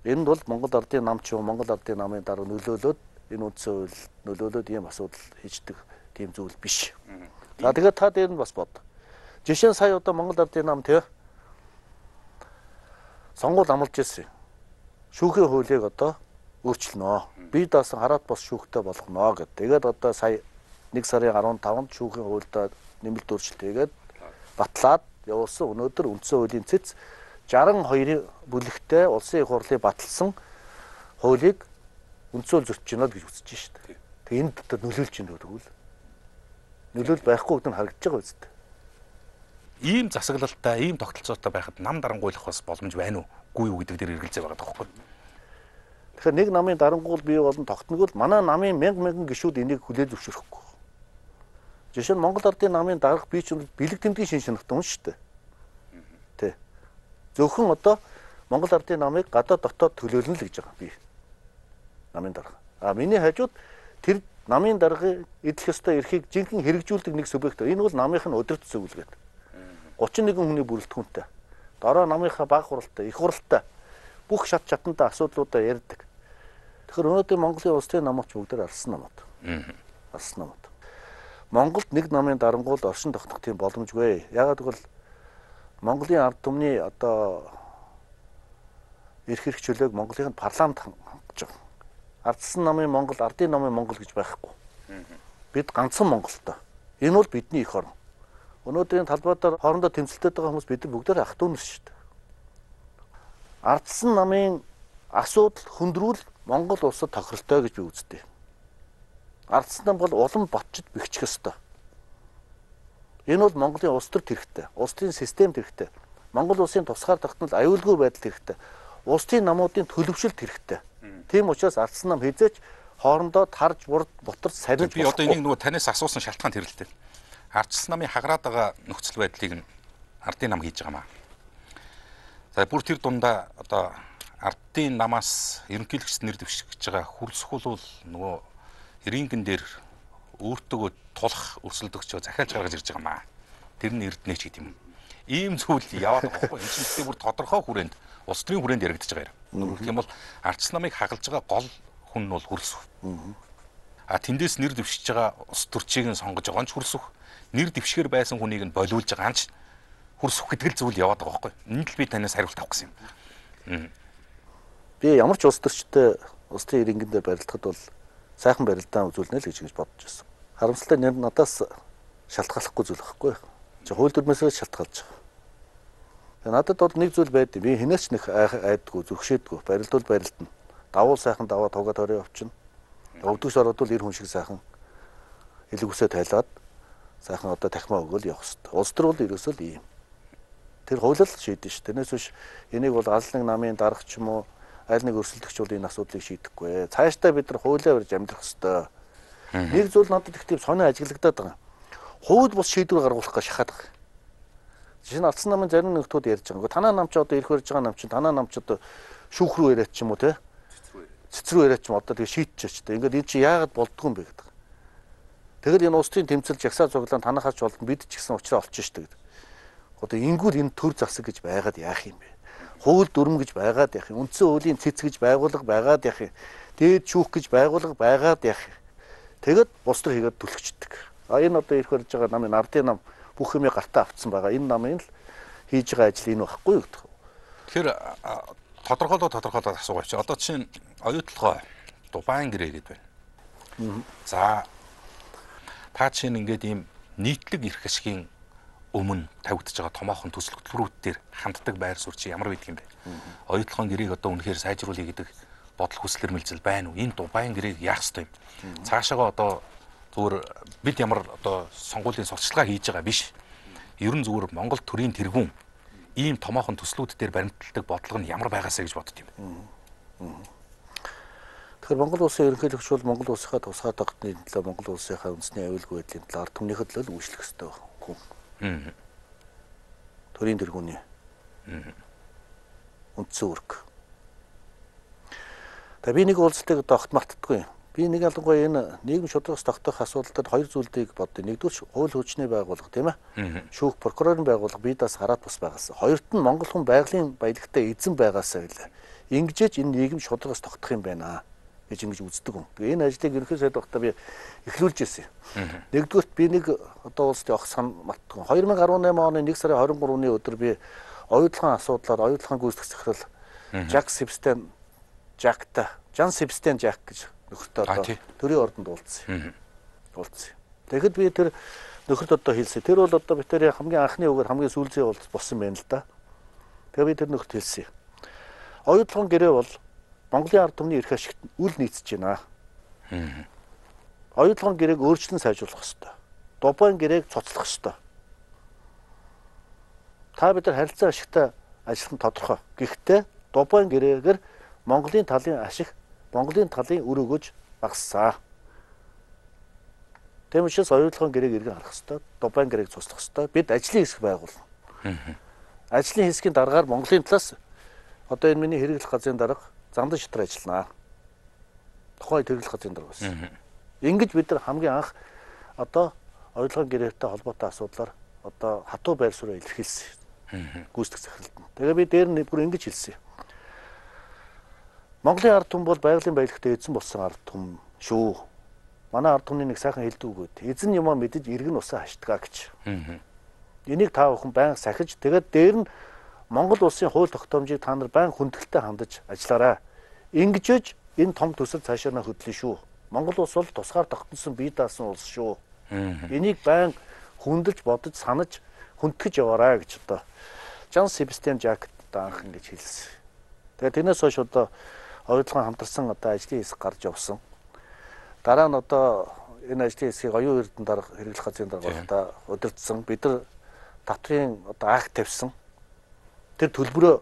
Энэ бол Монгол Ардын нам ч юм Монгол Ардын намын дараа нөлөөлөд энэ үндсэн хууль нөлөөлөд ийм асуудал хийждэг тийм зүйл биш. За тэгээд та дээр нь бас бод. Жишээ нь сая одоо Монгол Ардын нам тий сонгуул амлаж ирсэн. Шүүхийн хуулийг одоо өөрчлөнө. Бие даасан хараат бос шүүхтэй болгоно гэд. Тэгээд одоо сая 1 сарын 15-нд шүүхийн хуульд нэмэлт өөрчлөлт хийгээд батлаад явуулсан. Өнөөдөр үндсэн хуулийн цэц 62 бүлэгтэй улсын их хурлыг баталсан хуулийг үндсэн хууль зөрчиж гинэ гэж үзэж шүү дээ. Тэгээ энд одоо нөлөөлж гинэ тэгвэл нөлөөл байхгүй гэдэг нь харагдаж байгаа үстэй. Ийм засаглалтай, ийм тогтолцоотой байхад нам дарангуйлах бас боломж байна уугүй юу гэдэг дээр эргэлзээ байгаа тоххой. Тэгэхээр нэг намын дарангуул бий болон тогтногол манай намын мянган гишүүд энийг хүлээл зөвшөөрөхгүй. Жишээ нь Монгол Ардын намын дарга бие ч бэлэг тэмдгийн шин шинэгтэн шүү дээ. Тэ. Зөвхөн одоо Монгол Ардын намыг гадаад дотоод төлөөлнө л гэж байгаа би. Намын дарга. Миний хажууд тэр намын даргыг эдлэх ёстой эрхийг жинхэнэ хэрэгжүүлдэг нэг субъект. Энэ бол намынх нь өдөрт зөвлөгөөд. 31 хүний бүрэлдэхүүнтэй. Дараа намынхаа баг хуралтай, их хуралтай бүх шат чатандаа асуудлуудаа ярьдаг. Тэгэхээр өнөөдөр Монголын улсын намч бүгдээр алсан намууд. Алсан намууд. Монголд нэг намын дарангуул оршин тогтнох тийм боломжгүй. Яагаад гэвэл Монголын ард түмний одоо эрх хэрэгчлөөг Монголын парламент хангаж байгаа. Ардсан намын Монгол, ардын намын Монгол гэж байхгүй. Бид ганцхан Монголтой. Энэ бол бидний эх орн. Өнөөдрийн талбайдаар хоорондоо тэмцэлтэй байгаа хүмүүс бид нар бүгдээр ах トゥ нар шүү дээ. Ардсан намын асуудал хөндрүүл Монгол улсад тохиролтой гэж би үздэг. Ардсан нам бол улам ботчид бэхжих ёстой. Энэ бол Монголын улс төр хэрэгтэй, улс төрийн системд хэрэгтэй. Монгол улсын тусгаар тогтнол аюулгүй байдал хэрэгтэй. Улс төрийн намуудын төлөвшөлт хэрэгтэй. Тийм учраас ардсан нам хизээч хоорондоо тарж бутарч сарниж би одоо энийг нөгөө танаас асуусан шалтгаан тэр л дээ. Ардсан намын хагараад байгаа нөхцөл байдлыг нь ардын нам хийж байгаа маа. За бүр тэр дундаа одоо ардын намаас ерөнхийлөгчд нэр дэвшиж байгаа хуралсахуул нөгөө рингэн дээр өөртөө тулах өрсөлдөгчөө захиалж гаргаж ирж байгаа маа. Тэр нь эрдэнэч гэдэг юм. Ийм зүйл яваад байгаа байхгүй. Энэ чинь бүр тодорхой хүрээнд улс төрийн хүрээнд яригдчихэж байгаа юм. Гэх юм бол ардсан намыг хагалж байгаа гол хүн нь бол хуралсах. Тэндээс нэр дэвшиж байгаа улс төрчийг нь сонгож байгаа нь хуралсах. Нэр дэвшгэр байсан хүнийг нь болиулж байгаа нь хуралсах гэдэг л зүйл яваад байгаа байхгүй. Энэ л би танаас хариулт авах гэсэн юм. Би ямар ч улс төрчтэй улс төрийн иргэнээр барилдахад бол сайхан барилдаан үзүүлнэ л гэж бодож байсан. Харамсалтай нэр надаас шалтгааллахгүй зүйл байхгүй. Хууль дүрмээсээ шалтгаалж байгаа. Тэгээ надад бол нэг зүйл байдаг. Би хинээч нэг айдгүй, зүгшээдгүй. Барилдвал барилдана. Давуул сайхан даваа тугаа төрөө явчихна. Өвдөгч ороод бол эр хүн шиг сайхан илүүсээ тайлаад сайхан одоо тахмаа өгөөл явах хэрэгтэй. Улс төр бол ерөөсөө л ийм. Тэр хууль л шийдэн ш. Тэрнээс биш энийг бол аль нэг намын дарга ч юм уу аль нэг өрсөлдөгч бол энэ асуудлыг шийдэхгүй. Цаашдаа бид нар хуулиар барьж амьдрах хэрэгтэй. Нэг зүйл надад их тийм сонио ажиглагдаад байгаа. Хууль бус шийдвэр гаргуулах гэж шахаад байгаа. Жишээ нь ардсан намын зарим нэгтүүд ярьж байгаа. Танаа нам ч одоо ирэх барьж байгаа нам чинь танаа нам ч одоо шүүх рүү яриач ч юм уу те. Цэцрүү яриач ч юм одоо тэгээ шийдчихэж та. Ингээд энэ чи яагаад болдгоо юм бэ гэдэг. Тэгэл энэ улсын тэмцэл жагсаа цуглаан танахаач болд бид ч гэсэн уучраа олчих штэ гэдэг. Одоо ингүүл энэ төр засаг гэж байгаад яах юм бэ? Хууль дүрм гэж байгаад яах юм? Үндсэн хуулийн цэц гэж байгуулга байгаад яах юм? Дээд шүүх гэж байгуулга байгаад яах юм? Тэгэд бус төр хийгээд түлхчихдэг. Энэ одоо ирэх барьж байгаа намын ардын нам бүх юмыг гартаа авцсан байгаа. Энэ намын л хийж байгаа ажил энэ байхгүй юу гэдэг. Тэгэхээр тодорхойлоод асуугач. Одоо чинь оюутлогоо Дубайн гэрээ гэдэг байна. За та чинь ингээд ийм нийтлэг эрх ашигын өмнө тавигдж байгаа томоохон төсөл хөтөлбөрүүд дээр ханддаг байр суурь чи ямар байдаг юм бэ? Оюутлогын гэрээг одоо үнэхээр сайжруулъя гэдэг бодол хүсэл эрмэлзэл байна уу? Энэ Дубайн гэрээг яах ёстой юм? Цаашаага одоо зүгээр бид ямар одоо сонгуулийн сурталчилгаа хийж байгаа биш. Ерөн зүгээр Монгол төрийн тэргүүн ийм томоохон төслүүд дээр баримталдаг бодлого нь ямар байгаасаа гэж бодд юм. Тэгэхээр Монгол улсын ерөнхийлөгч бол Монгол улсынхаа тусгай тогтны төлөө Монгол улсынхаа үндэсний аюулгүй байдлын төлөө ард түмнийхээ төлөө үйлчлэх ёстой хүн. Төрийн тэргүүний үндсэн үүрэг. Тэгээ би нэг уулзалтыг огт мартдаггүй. Би нэг ялангуяа энэ нийгэм шударгаас тогтоох асуудал дээр хоёр зүйлийг боддоо. Нэгдүгээр хууль хүчний байгууллага тийм ээ. Шүүх прокурорын байгууллага бидээс хараад бас байгаас. Хоёрт нь Монгол хүн байгалийн баялагтай эзэн байгаасаа гэлээ. Ингэжээч энэ нийгэм шударгаас тогтох юм байна. гэж ингэж үздэг юм. Тэгээ энэ ажлыг ерөнхий сайд багтаа би эхлүүлж ирсэн. Нэгдүгürt би нэг одоо улсад явах сан мартсан. 2018 оны 1 сарын 23-ны өдөр би оюутлахын асуудлаар оюутлахын гүйцэтгэх захирал Жан Себстен Жак гэж нөхөртөө одоо төрийн ордонд уулзсан. Тэгэхэд би тэр нөхөрт одоо хэлсэн. Тэр бол одоо битэрийн хамгийн анхны үгээр хамгийн сүүлзээ уулз болсон байна л да. Тэгээ би тэр нөхөрт хэлсэн. Оюутлахын гэрээ бол Монголын ард түмний эрх ашигт үл нийцэж байна. Оюутлахын гэрээг өөрчлөн сайжруулах ёстой. Дубайн гэрээг цоцлох ёстой. Та бид нар харилцаа ашигтай ажиллах нь тодорхой. Гэхдээ Дубайн гэрээгээр Монголын талын ашиг, Монголын талын үр өгөөж багассан. Тийм учраас оюутлахын гэрээг иргэн харах ёстой. Дубайн гэрээг цуслах ёстой. Бид ажлын хэсэг байгуулна. Ажлын хэсгийн дараагаар Монголын талаас одоо энэ миний хэрэглэх газрын дарга Зандан шатар ажилланаа. Тухайн хэрэглэх газрын дарга байсан. Ингэж бид нар хамгийн анх одоо оюутлахын гэрээтэй холбоотой асуудлаар одоо хатуу байр суурь илэрхийлсэн. Гүйцэтгэх захиралд нь. Тэгээ би дээр нь бүр ингэж хэлсэн. Монголын ард түмэн бол байгалийн баялагтай эзэн болсон ард түмэн шүү. Манай ард түмний нэг сайхан хэлдэг үг үүд. Эзэн юмаа мэдэж иргэн усаа хаштгаа гэж. Энийг та бүхэн байнга сахиж тэгээд дээр нь Монгол улсын хууль тогтоомжийг та нар байнга хүндэтгэлтэй хандаж ажиллаарай. Ингэжж энэ том төсөл цаашаа хөдлөн шүү. Монгол улс бол тусгаар тогтносон бие даасан улс шүү. Энийг байнга хүндэлж бодож санаж хүндэтгэж яваарай гэж одоо Жан Себстен Жак даанх ингэж хэлсэн. Тэгээд тэрнээс хойш одоо оюутлахын хамтарсан одоо ажлын хэсэг гарч явсан. Дараа нь одоо энэ ажлын хэсгийг оюун эрдэнэ дарга хэрэглэх газрын дарга удирдсан. Бид нар татрын одоо акт тавьсан. Тэр төлбөрөө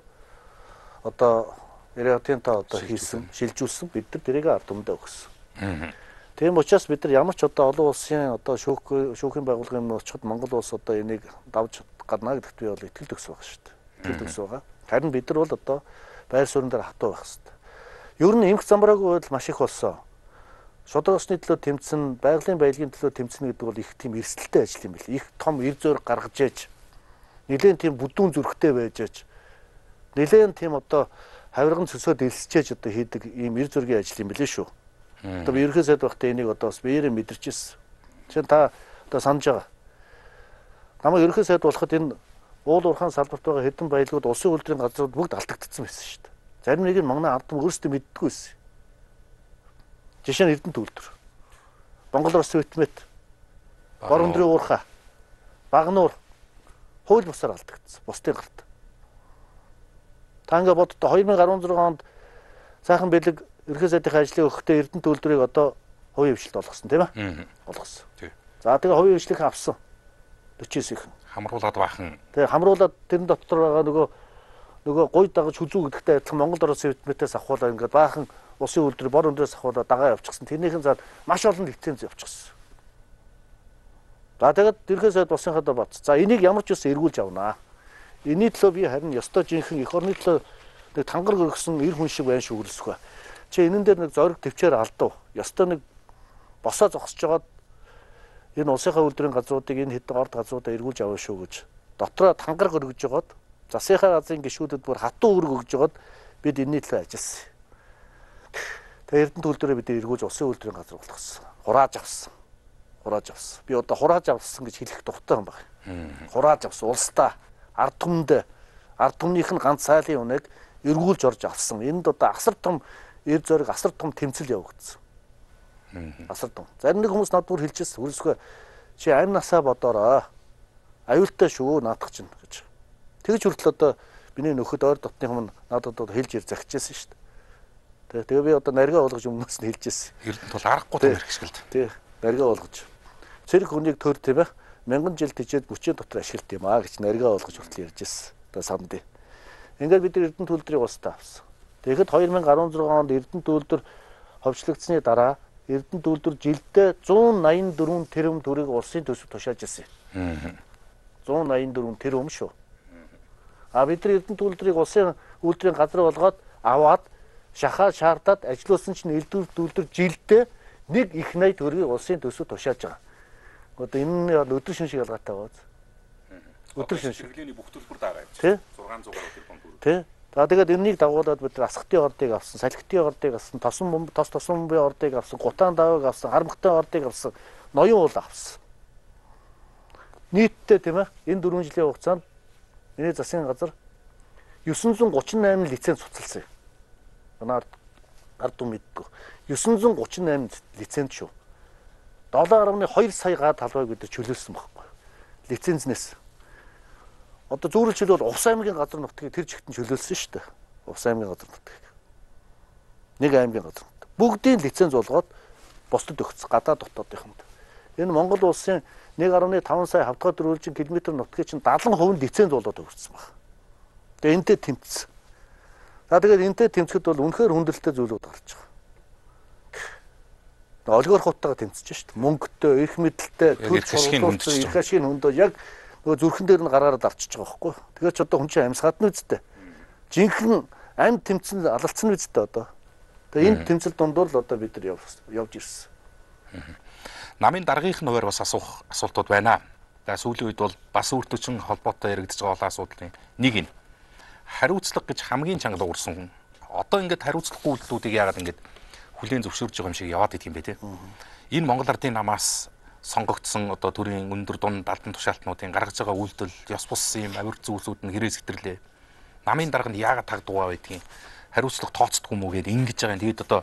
одоо Эрдэнэтээ одоо хийсэн, шилжүүлсэн. Бид нар тэрийг ард түмэндээ өгсөн. Тийм учраас бид нар ямар ч одоо олон улсын одоо шүүхийн байгууллагын өмнө очиход Монгол улс одоо энийг давж гарна гэдэгт би бол итгэл төгс байгаа шүү дээ. Итгэл төгс байгаа. Харин бид нар бол одоо байр суурин дээр хатуу байх хэрэгтэй. Ер нь эмх замбраагүй байдал маш их болсон. Шудраг усны төлөө тэмцэн, байгалийн баялагын төлөө тэмцэнэ гэдэг бол их тийм эрсдэлтэй ажил юм бэл. Их том эр зөөр гаргаж ээж, нэлээд тийм бүдүүн зүрхтэй байж ээж, нэлээд тийм одоо хавирган цөсөөд элсчээж одоо хийдэг ийм эр зөргийн ажил юм билээ шүү. Одоо би ерхий сайд багтаа энийг одоо бас биеэрээ мэдэрчээсэн. Жишээ нь та одоо санаж байгаа. Намайг ерхий сайд болоход энэ уул уурхаан салбарт байгаа хэдэн баялагууд улсын үйлдвэрийн газрууд бүгд алдагдсан байсан шүү дээ. Зарим нэг нь манай ард түмэн өөрсдөө мэддэггүй байсан. Жишээ нь Эрдэнэт үйлдвэр. Монгол Улс Витмет, Бор өндрийн уурхай, Багнуур хууль бусаар алдагдсан. Бусдын гарт. Та ингээ боддоо 2016 онд сайхан бэлэг ерхий сайдын ажлын өгөхдөө Эрдэнэт үйлдвэрийг одоо хувийн хвшилт болгосон тийм ээ? Болгосон. За тэгээ хувийн хвшлийг авсан. 49-ийн хамруулад баахан. Тэгээ хамруулад тэрэн дотор байгаа нөгөө гой дагаж хүзүү гэдэгтэй адилхан Монгол Улс Витметээс авахуулаа ингээд баахан улсын үйлдвэр бор өндрөөс авахуулаа дагаа явчихсан. Тэрнийхэн зад маш олон лиценз явчихсан. За тэгээд ерхий сайд босынхаа бат. За энийг ямар ч үс эргүүлж авнаа. Энийн төлөө би харин ёстой жинхэнэ эх орны төлөө нэг тангар гөргсөн эр хүн шиг байна шүү хүлсэх ба. Чи энэн дээр нэг зориг төвчээр алдав. Ёстой нэг босоо зогсож жагаад энэ улсынхаа үйлдвэрийн газруудыг энэ хэдэн орд газруудаа эргүүлж аваа шүү гэж дотроо тангар гөргөж жагаад засынхаа газрын гишүүдэд бүр хатуу өрг өгж жагаад бид энэний төлөө ажилласан. Тэгээ Эрдэнэт үйлдвэрээ бид эргүүлж улсын үйлдвэрийн газар болгосон. Хурааж авсан. Би одоо хурааж авсан гэж хэлэх дуртай юм байна. Хурааж авсан улсдаа ард түмнийх нь ганц сайлын үнэг эргүүлж орж авсан. Энд одоо асар том эр зориг, асар том тэмцэл явагдсан. Асар том. Зарим нэг хүмүүс надад бүр хэлчихсэн. Хөрсгөө чи амь насаа бодоорой. Аюултай шүү наадах чинь гэж. Тэгж хүртэл одоо биний нөхөд ойр дотны хүмүүс надад одоо хэлж ир захижсэн шүү дээ. Тэгээ би одоо наргаа болгож өмнөөс нь хэлжсэн. Эрдэнэт бол аргагүй том хэрэгсгэлд. Тий, наргаа болгож. Цэрэг хүнийг төр тийм ээ. 1000 жил тижээд мөчийн дотор ашиглт юм аа гэж наргаа болгож хүртэл ярьжсэн. Одоо санд. Ингээд бид Эрдэнэт үйлдвэрийг устдаа авсан. Тэгэхэд 2016 онд Эрдэнэт үйлдвэр ховчлогдсны дараа Эрдэнэт үйлдвэр жилдээ 184 тэрбум төгрөг улсын төсөв тушааж ирсэн. 184 тэрбум шүү. А бид нар Эрдэнэт үйлдвэрийг улсын үйлдвэрийн газар болгоод аваад шахаад шаардаад ажилласан чинь Эрдэнэт үйлдвэр жилдээ нэг их 80 төгрөгийг улсын төсөв тушааж байгаа. Одоо энэ нь өдөр шин шиг ялгаатай байгаа. Өдөр шин шиг. Чиглэлийн бүх төлбөр дагаа юм. Тий? 600 гаруй тэрбум төгрөг. Тий? За тэгээд энэнийг дагуулад бид асхтын ордыг авсан, салхитын ордыг авсан, тос бомбын ордыг авсан, гутаан давыг авсан, хармагтын ордыг авсан, ноён уул авсан. Нийтдээ тийм ээ энэ 4 жилийн хугацаанд миний засгийн газар 938 лиценз цуцалсан юм. Манай ард түмэн мэдгүй. 938 лиценз шүү. 7.2 сая га талбайг бид чөлөөлсөн байхгүй. Лицензнээс. Одоо зүүрлж хэлбэл Увс аймгийн газар нутгийг тэр жигтэн чөлөөлсөн шүү дээ. Увс аймгийн газар нутгийг. Нэг аймгийн газар нут. Бүгдийн лиценз болгоод бусдад өгсөн. Гадаад дотоодынханд. Энэ Монгол улсын 1.5 сая хавтгай дөрвөлжин километр нутгийг чинь 70% лиценз болоод өгсөн байна. Тэгээ энтэй тэмцсэн. За тэгээд энтэй тэмцэхэд бол үнэхээр хүндрэлтэй зүйлүүд гарч байгаа. Олигархуудтайгаа тэмцэж шүү дээ. Мөнгөтэй, эрх мэдэлтэй, төрч хурцлуулсан, эрх ашигын хөндөө яг нөгөө зүрхэн дээр нь гараараа дарчиж байгаа байхгүй. Тэгэхээр ч одоо хүн чинь амьсгаад нь үсттэй. Жинхэнэ амьд тэмцэн алалцсан үсттэй одоо. Тэгээ энэ тэмцэл дундуур л одоо бид нар явж ирсэн. Намын даргынх нь хуваар бас асуух асуултууд байна. За сүүлийн үед бол бас үртөчн холбоотой яригдж байгаа асуудлын нэг нь хариуцлага гэж хамгийн чанга дуурсан. Одоо ингээд хариуцлагагүй үйлдэлүүдийг яагаад ингээд хүлээн зөвшөөрж байгаа юм шиг яваад идэх юм бэ те. Энэ Монгол Ардын намаас сонгогдсон одоо төрийн өндөр дунд албан тушаалтнуудын гаргаж байгаа үйлдэл ёс бус юм авирт зүйлсүүд нь хэрэг сэтэрлээ. Намын дарганд яагаад тагдгаа байдгийг хариуцлага тооцдгүй мүү гэдээ ингэж байгаа юм. Тэгээд одоо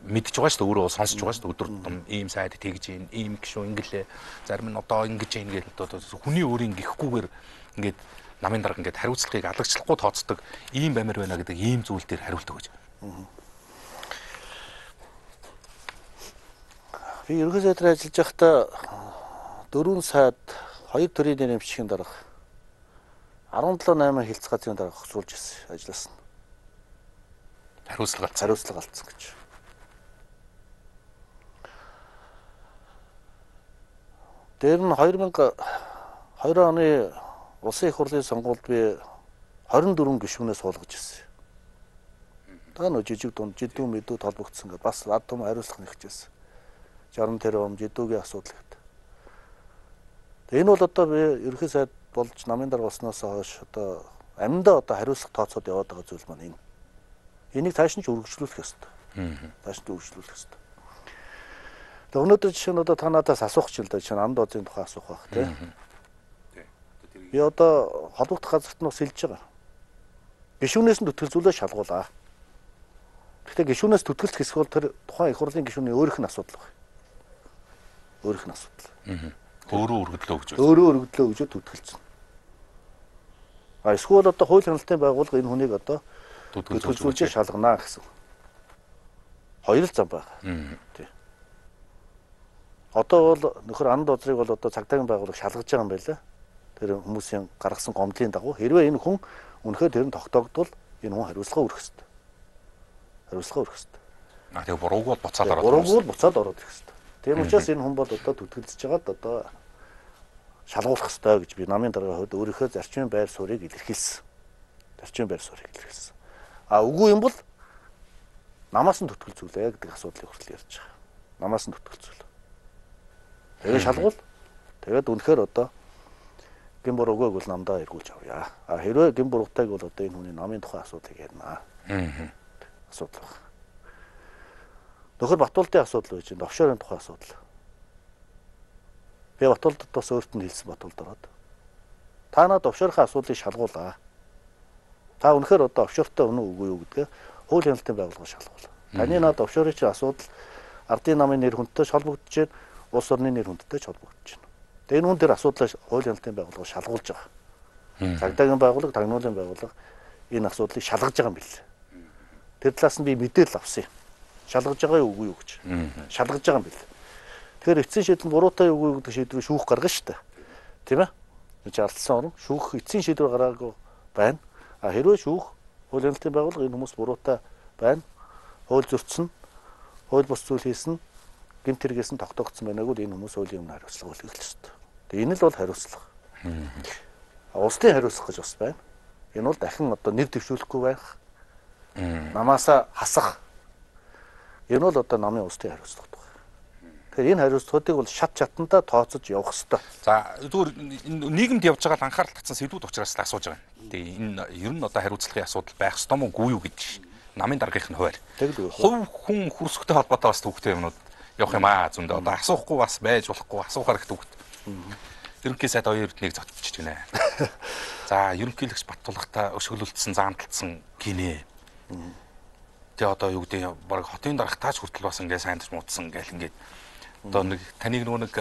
мэдчихэж байгаа шүү дээ өөрөө сонсож байгаа шүү дээ өдөр тутам ийм сайд тэгж ийм гişүү ингэлээ зарим нь одоо ингэж ингээд одоо хүний өөрийн гихгүйгээр ингээд намын дарга ингээд хариуцлагыг алагчлахгүй тооцдог ийм бамир байна гэдэг ийм зүйл дээр хариулт өгөөж. Би ерөнхий сайдаар ажиллаж байхдаа 4 саяд 2 төрлийн нэмшигчийн дарга 17-8 хилцгаазын дарга хөсүүлж ирсэн ажилласан. Хариуцлага алдсан гэж. Тэр нь 2002 оны улсын их хурлын сонгуульд би 24 гишүүнээс суулгаж ирсэн. Та нөө жижиг дунд жидүү мэдүү толбогдсон гэж бас ард том хариуцлага нэгчээсэн. 60 тэрбум жидүүгийн асуудал гэдэг. Энэ бол одоо би ерөнхий сайд болж намын дарга болсноос хойш одоо аминдаа одоо хариуцлага тооцоод яваад байгаа зүйл маань энэ. Энийг тааш нь ч үргэлжлүүлэх ёстой. Тааш нь үргэлжлүүлэх ёстой. Тэгээ өнөөдөр жишээ нь одоо та надаас асуух ч юм да жишээ нь анд оозын тухай асуух байх тийм. Би одоо холбогдох газарт нь бас хэлж байгаа. Гишүүнээс нь төтгөлзүүлээ шалгуулаа. Гэхдээ гишүүнээс төтгөлт хэсэг бол тэр тухайн их хурлын гишүүний өөрийнх нь асуудал байна. Өөрийнх нь асуудал. Өөрөө өргөдлөө гэж. Өөрөө өргөдлөө гэж төтгөлцөн. Эсвэл одоо хууль хяналтын байгууллага энэ хүнийг одоо төтгөлзүүлж шалганаа гэсэн. Хоёр л зам байна. Тийм. Одоо бол нөхөр анд озрыг бол одоо цагдаагийн байгууллага шалгаж байгаа юм байна. Тэр хүмүүсийн гаргасан гомдлын дагуу хэрвээ энэ хүн үнэхээр тэр нь тогтоогдвол энэ хүн хариуцлага өрөх ёстой. Хариуцлага өрөх ёстой. Тэгээ бурууг бол буцаад ороод. Бурууг бол буцаад ороод ирэх ёстой. Тийм учраас энэ хүн бол одоо төтгөлдөж жагаад одоо шалгуулах ёстой гэж би намын даргын хувьд өөрийнхөө зарчмын байр суурийг илэрхийлсэн. Зарчмын байр суурийг илэрхийлсэн. Үгүй юм бол намаас нь төтгөлзүүлээ гэдэг асуудлыг хүртэл ярьж байгаа. Намаас нь төтгөлзүүл. Тэгээ шалгуул. Тэгээд үнэхээр одоо гин бурууг бол намдаа эргүүлж авъя. Хэрвээ гин буруутай бол одоо энэ хүний намын тухай асуудлыг ярина. Асуудал байна. Нөхөр Батуулдын асуудал байж байна. Офшорын тухай асуудал. Би Батуулдад бас өөрт нь хэлсэн Батуулд ороод. Та надад офшорын асуудлыг шалгуулаа. Та үнэхээр одоо офшортой өнөө үгүй юу гэдгээ хууль хяналтын байгууллага шалгуул. Таны надад офшорын чинь асуудал ардын намын нэр хүндтэй холбогдож байна. Улс орны нэр хүндтэй ч холбогдож байна. Тэгээ энэ хүн дээр асуудлаа хууль хяналтын байгууллага шалгуулж байгаа. Цагдаагийн байгууллага, тагнуулын байгууллага энэ асуудлыг шалгаж байгаа юм билээ. Тэр талаас нь би мэдээлэл авсан юм. Шалгаж байгаа юу үгүй юу гэж. Шалгаж байгаа юм билээ. Тэгэхээр эцсийн шийдэл буруутай үгүй юу гэдэг шийдвэрийг шүүх гаргана шүү дээ. Тийм ээ? Энд ардсан орн шүүх эцсийн шийдвэр гаргаагүй байна. Хэрвээ шүүх хууль хяналтын байгууллага энэ хүмүүс буруутай байна. Хууль зөрчсөн, хууль бус зүйл хийсэн, гэмт хэрэгээс нь тогтоогдсон байнааг бол энэ хүмүүс хуулийн өмнө хариуцлага үлээх ёстой. Тэгээ энэ л бол хариуцлага. Улсын хариуцлага гэж бас байна. Энэ бол дахин одоо нэр дэвшүүлэхгүй байх. Намаасаа хасах. Энэ бол одоо намын улсын хариуцлага байна. Тэгэхээр энэ хариуцлагуудыг бол шат чатандаа тооцож явах хэрэгтэй. За зүгээр нийгэмд явж байгаа л анхаарал татсан сэдвүүд учраас л асууж байгаа юм. Тэгээ энэ ер нь одоо хариуцлагын асуудал байх ёстой мó гүй юу гэж намын даргийнх нь хуваар. Хувь хүн хүрсэхтэй холбоотой бас төвхтэй юмнууд явах юм аа зөндөө. Одоо асуухгүй бас байж болохгүй асуухаар их төвхт. Ерөнхий сайд хоёр эрднийг зогтчихж байна. За ерөнхийлөгч Баттулгата өшөглөлдсөн заамталсан гинэ. Тэгээ одоо юу гэдэг баг хотын дарга тааж хүртэл бас ингээ сайн муудсан гэл ингээд одоо нэг таныг нэг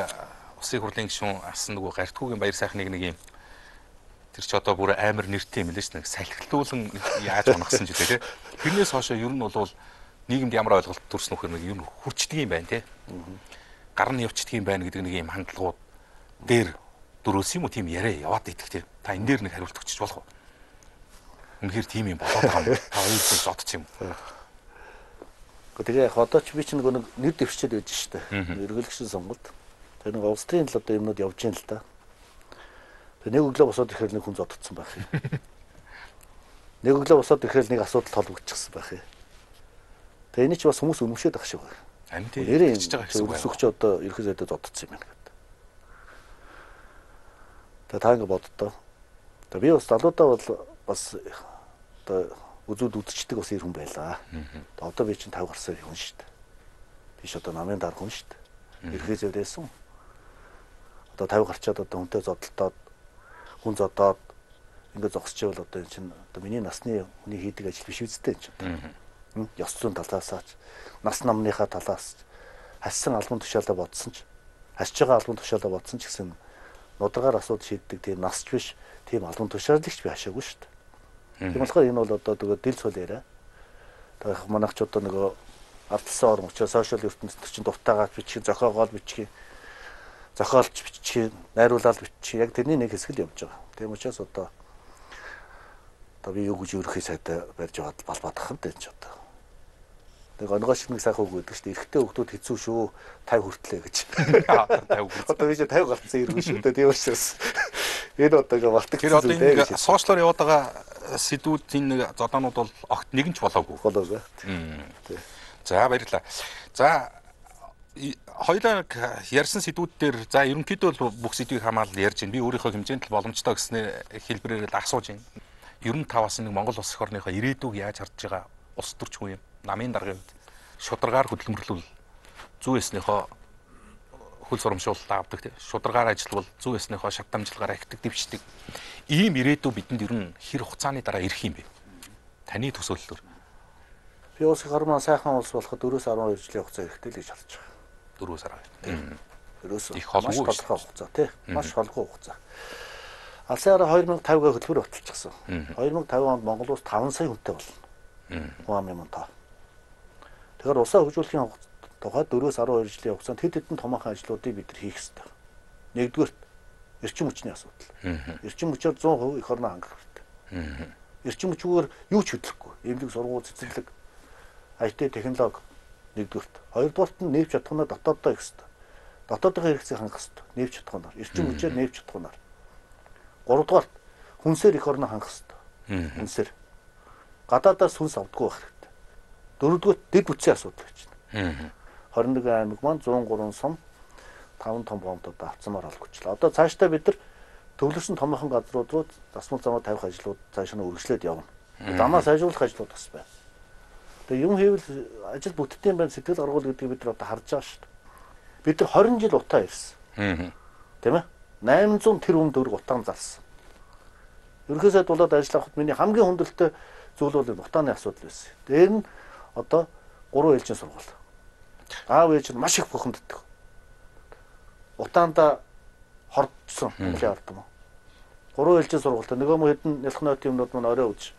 усын хурлын гишүүн асан нөгөө Гартгуугийн баяр сайхныг нэг юм тэр ч одоо бүр амар нэртэй юм лээ ш нэг салхилуулан яаж унагсан ч үгүй те. Тэрнээс хойшоо ер нь бол нийгэмд ямар ойлголт төрсөн нөхөр нэг ер нь хүрчдэг юм байна те. Гар нь явчдаг юм байна гэдэг нэг юм хандлагууд дээр дөрөөс юм уу тийм яриа яваад идэх те. Та энэ дээр нэг хариулт өгчих болох уу? Үнэхээр тийм юм болоод байгаа юм. Та хоёр зүйл зодчих юм. Тэгээ яг одоо ч би чинь нэг нэр дэвшчээд байж штэ. Эргэлгчсэн сонголт. Тэр нэг улс төрийн л одоо юмнууд явж гин л да. Тэгээ нэг өглөө босоод ирэхээр нэг хүн зодтсон байх юм. Нэг өглөө босоод ирэхээр нэг асуудал толбогдчихсан байх юм. Тэгээ энэ ч бас хүмүүс өнөмшөөд ах шиг байна. Амин тийм хийж байгаа гэсэн үг. Өсөгч одоо ерхий сайдад зодтсон юм байна гэдэг. Тэгээ та ингэ боддоо. Тэгээ би бас залуудаа бол бас одоо үзүүд үзчихдэг бас ир хүн байлаа. Одоо би чинь 50 гарсан хүн шүү дээ. Биш одоо намын дарга хүн шүү дээ. Ерхий зэвдээсэн. Одоо 50 гарчаад одоо хүнтэй зодтолтоод хүн зодоод ингээд зогсчихвол одоо энэ чинь одоо миний насны хүний хийдэг ажил биш үстэй энэ чинь. Ёс зүйн талаасаач, нас намныхаа талаас хассан албан тушаалаа бодсон ч, хасж байгаа албан тушаалаа бодсон ч гэсэн нударгаар асуудал шийддэг тийм насч биш, тийм албан тушаалагч би хашаагүй шүү дээ. Тийм болохоор энэ бол одоо тэгээ дэл цол яриа. Тэгээ манайч одоо нөгөө алдсан орн учраас сошиал ертөнцид чинь дуртайгаад бичих, зохиогоод бичих, зохиолч бичих, найруулаад бичих яг тэрний нэг хэсэг л явж байгаа. Тийм учраас одоо би юу гэж ерхий сайдаа барьж яваад балбаадах юм дээ ч одоо. Нэг онгоо шиг нэг сайхан үг гэдэг шүү дээ. Эрэгтэй хүмүүс хэцүү шүү. 50 хүртлээ гэж. 50. Одоо би 50 гарцсан иргэн шүү дээ. Тийм учраас энэ одоо ингээ малтаг. Тэр одоо энэ сошиалоор яваад байгаа сэдвүүдийн нэг зодоонууд бол огт нэгэн ч болоогүй. Болоогүй. За баярлалаа. За хоёулаа ярьсан сэдвүүд дээр за ерөнхийдөө бүх сэдвийг хамгаалал ярьж байна. Би өөрийнхөө хэмжээнд л боломжтой гэснээр хэлбэрээр л асууж байна. 95-аас нэг Монгол улс эх орныхоо ирээдүг яаж харж байгаа улс төрч хүн юм. Намын даргын үед шударгаар хөдөлмөрлөл зүй эснийхөө хөл сурамшуулалт авдаг тийм шударгаар ажиллавал зүй эснийхөө шат дамжлагаараа ихдэг дэвшдэг ийм ирээдүй бидэнд ер нь хэр хугацааны дараа ирэх юм бэ? Таны төсөөллөөр. Би улс эх орн сайхан улс болоход 4-өөс 12 жилийн хугацаа хэрэгтэй л гэж харж байгаа. 4-өөс 12. Ерөөсөө их холбоо тодорхой хугацаа тийм маш холбоо хугацаа. Алсын араа 2050-г хөтөлбөр баталчихсан. 2050 онд Монгол улс 5 сая хүнтэй болно. Хуам юм таа. Тэгэхээр улсаа хөгжүүлэхийн тухайд 4-өөс 12 жилийн хугацаанд хэд хэдэн томоохон ажлуудыг бид нар хийх ёстой. Нэгдүгээрт эрчим хүчний асуудал. Эрчим хүчээр 100% эх орноо хангах хэрэгтэй. Эрчим хүчгээр юу ч хөдлөхгүй. Эмнэлэг сургууль цэцэрлэг IT технологи нэгдүгээрт. Хоёрдугаарт нь нээвч чадханаа дотооддоо их ёстой. Дотоодын хэрэгцээг хангах ёстой. Нээвч чадханаар, эрчим хүчээр нээвч чадханаар. Гуравдугаарт хүнсээр эх орноо хангах ёстой. Хүнсээр. Гадаадаас хүнс авдаггүй байх хэрэгтэй. Дөрөвдүгээр дэд бүтцийн асуудал гэж байна. 21 аймаг маань 103 сум 5 том бомбууд авцмаар олгочлаа. Одоо цаашдаа бид нар төвлөрсөн томоохон газрууд руу засмал замаа тавих ажлууд цааш нь үргэлжлээд явна. Замаа сайжруулах ажлууд бас байна. Тэгээ юм хийвэл ажил бүтдээм байна сэтгэл гаргуул гэдгийг бид нар одоо харж байгаа шүү дээ. Бид нар 20 жил утаа ирсэн. Тийм ээ? 800 тэрбум төгрөг утаан зарсан. Ерөнхий сайд болоод ажиллахад миний хамгийн хүндрэлтэй зүйл бол утааны асуудал байсан. Дээр нь одоо 3 ээлжийн сургууль. Аав ээж нь маш их бухимддаг. Утаанда хордсон хэлээ ардам. 3 ээлжийн сургуультай нөгөө мөн хэдэн нялх ноотын юмнууд маань орой үз.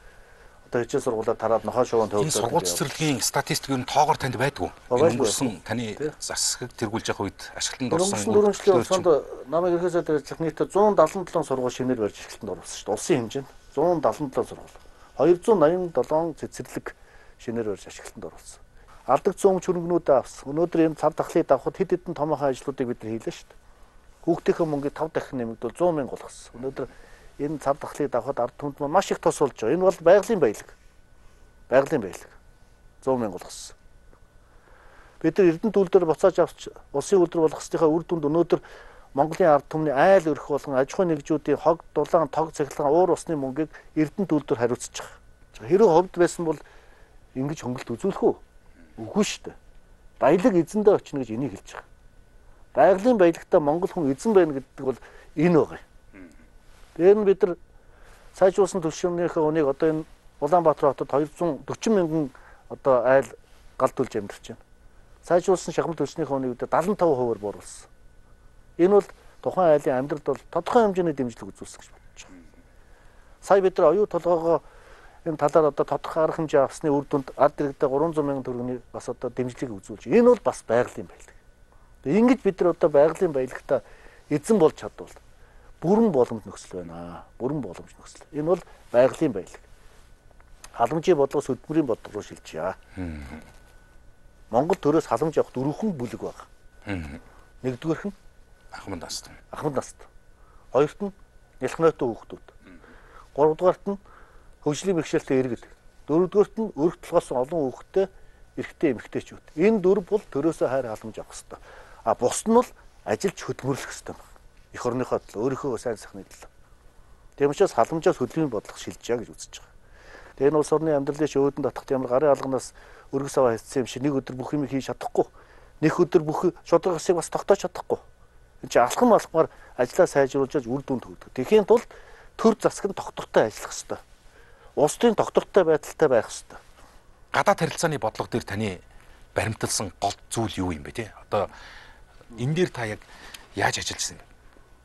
Одоо хичээл сургуулаа тараад нохоо шуган төвлөрсөн. Энэ сургууль цэцэрлэгийн статистик юу тоогоор танд байдгүй. Өнгөрсөн таны засаг тэргүүлж явах үед ашиглалтанд орсон. Өнгөрсөн 4 жилийн хугацаанд намайг ерхий сайдаар ажиллах нийтдээ 177 сургууль шинээр барьж ашиглалтанд оруулсан шүү дээ. Улсын хэмжээнд 177 сургууль. 287 цэцэрлэг шинээр барьж ашиглалтанд оруулсан. Алдагдсан өмч хөрөнгнүүдээ авсан. Өнөөдөр энэ цар тахлыг давхад хэд хэдэн томоохон ажлуудыг бид нар хийлээ шүү дээ. Хүүхдийнхээ мөнгийг 5 дахин нэмэгдүүл 100 мянга болгосон. Өнөөдөр энэ цар тахлыг давхад ард түмэнд маань маш их тос болж байгаа. Энэ бол байгалийн баялаг. Байгалийн баялаг. 100 мянга болгосон. бид нар Эрдэнэт үйлдвэр буцааж авч улсын үйлдвэр болгох ёсныхаа үр дүнд өнөөдөр Монголын ард түмний айл өрх болгон аж ахуйн нэгжүүдийн хог, дулаан, тог, цахилгаан, уур усны мөнгийг Эрдэнэт үйлдвэр хариуцж байгаа. Хэрэв ховд байсан бол ингэж хөнгөлт үзүүлэх үү? Үгүй шүү дээ. Баялаг эзэндээ очно гэж энийг хэлж байгаа. Байгалийн баялагтаа монгол хүн эзэн байна гэдэг бол энэ байгаа юм. Тэр нь бид нар сайжруулсан түвшиннийхээ үнийг одоо энэ Улаанбаатар хотод 240 мянган одоо айл галдуулж амьдарч байна. Сайжруулсан шахам түвшнийхээ үнийг 75%-аар бууруулсан. Энэ бол тухайн айлын амьдралд бол тодорхой хэмжээний дэмжлэг үзүүлсэн гэж бодож байгаа. Сая бид нар оюу толгоогоо энэ талаар одоо тодорхой арга хэмжээ авсны үр дүнд ард иргэдээ 300 мянган төгрөгийн бас одоо дэмжлэг үзүүлж. Энэ бол бас байгалийн баялаг. Тэгээ ингэж бид нар одоо байгалийн баялагтаа эзэн болж чадвал бүрэн боломж нөхцөл байна. Бүрэн боломж нөхцөл. Энэ бол байгалийн баялаг. Халамжийн бодлогоос хөдөлмөрийн бодлого руу шилжиж. Монгол төрөөс халамж авах дөрвөн бүлэг байна. Нэгдүгээрх нь Ахмад наст. Ахмад наст. Хоёрт нь нялхнойтой хүүхдүүд. Гуравдугаарт нь хөгжлийн бэрхшээлтэй иргэд. Дөрөвдүгээрт нь өрх толгоос олон хүүхэдтэй эрэгтэй эмэгтэйчүүд. Энэ дөрв бол төрөөсөө хайр халамж авах хэрэгтэй. А бус нь бол ажиллаж хөдөлмөрлөх хэрэгтэй байна. Эх орныхоо төлөө өөрийнхөө сайн сайхны төлөө. Тийм учраас халамжаас хөдөлмөрийн бодлого шилжиж гэж үзэж байгаа. Тэгээ энэ улс орны амьдралын өөдөн татахт ямар гарын алганаас өргөс аваа хийсэн юм шиг нэг өдөр бүх юм хийж чадахгүй. Нэг өдөр бүх шударгасыг бас тогтоож чадахгүй. Энд чинь алхам алхмаар ажлаа сайжруулж үр дүнд хүргэх. Тэхийн тулд төр засаг нь доктортой ажиллах хэрэгтэй. Улс төрийн доктортой байдалтай байх хэрэгтэй. Гадаад харилцааны бодлого дээр таны баримталсан гол зүйл юу юм бэ те? Одоо энэ дээр та яг яаж ажиллажсэн юм?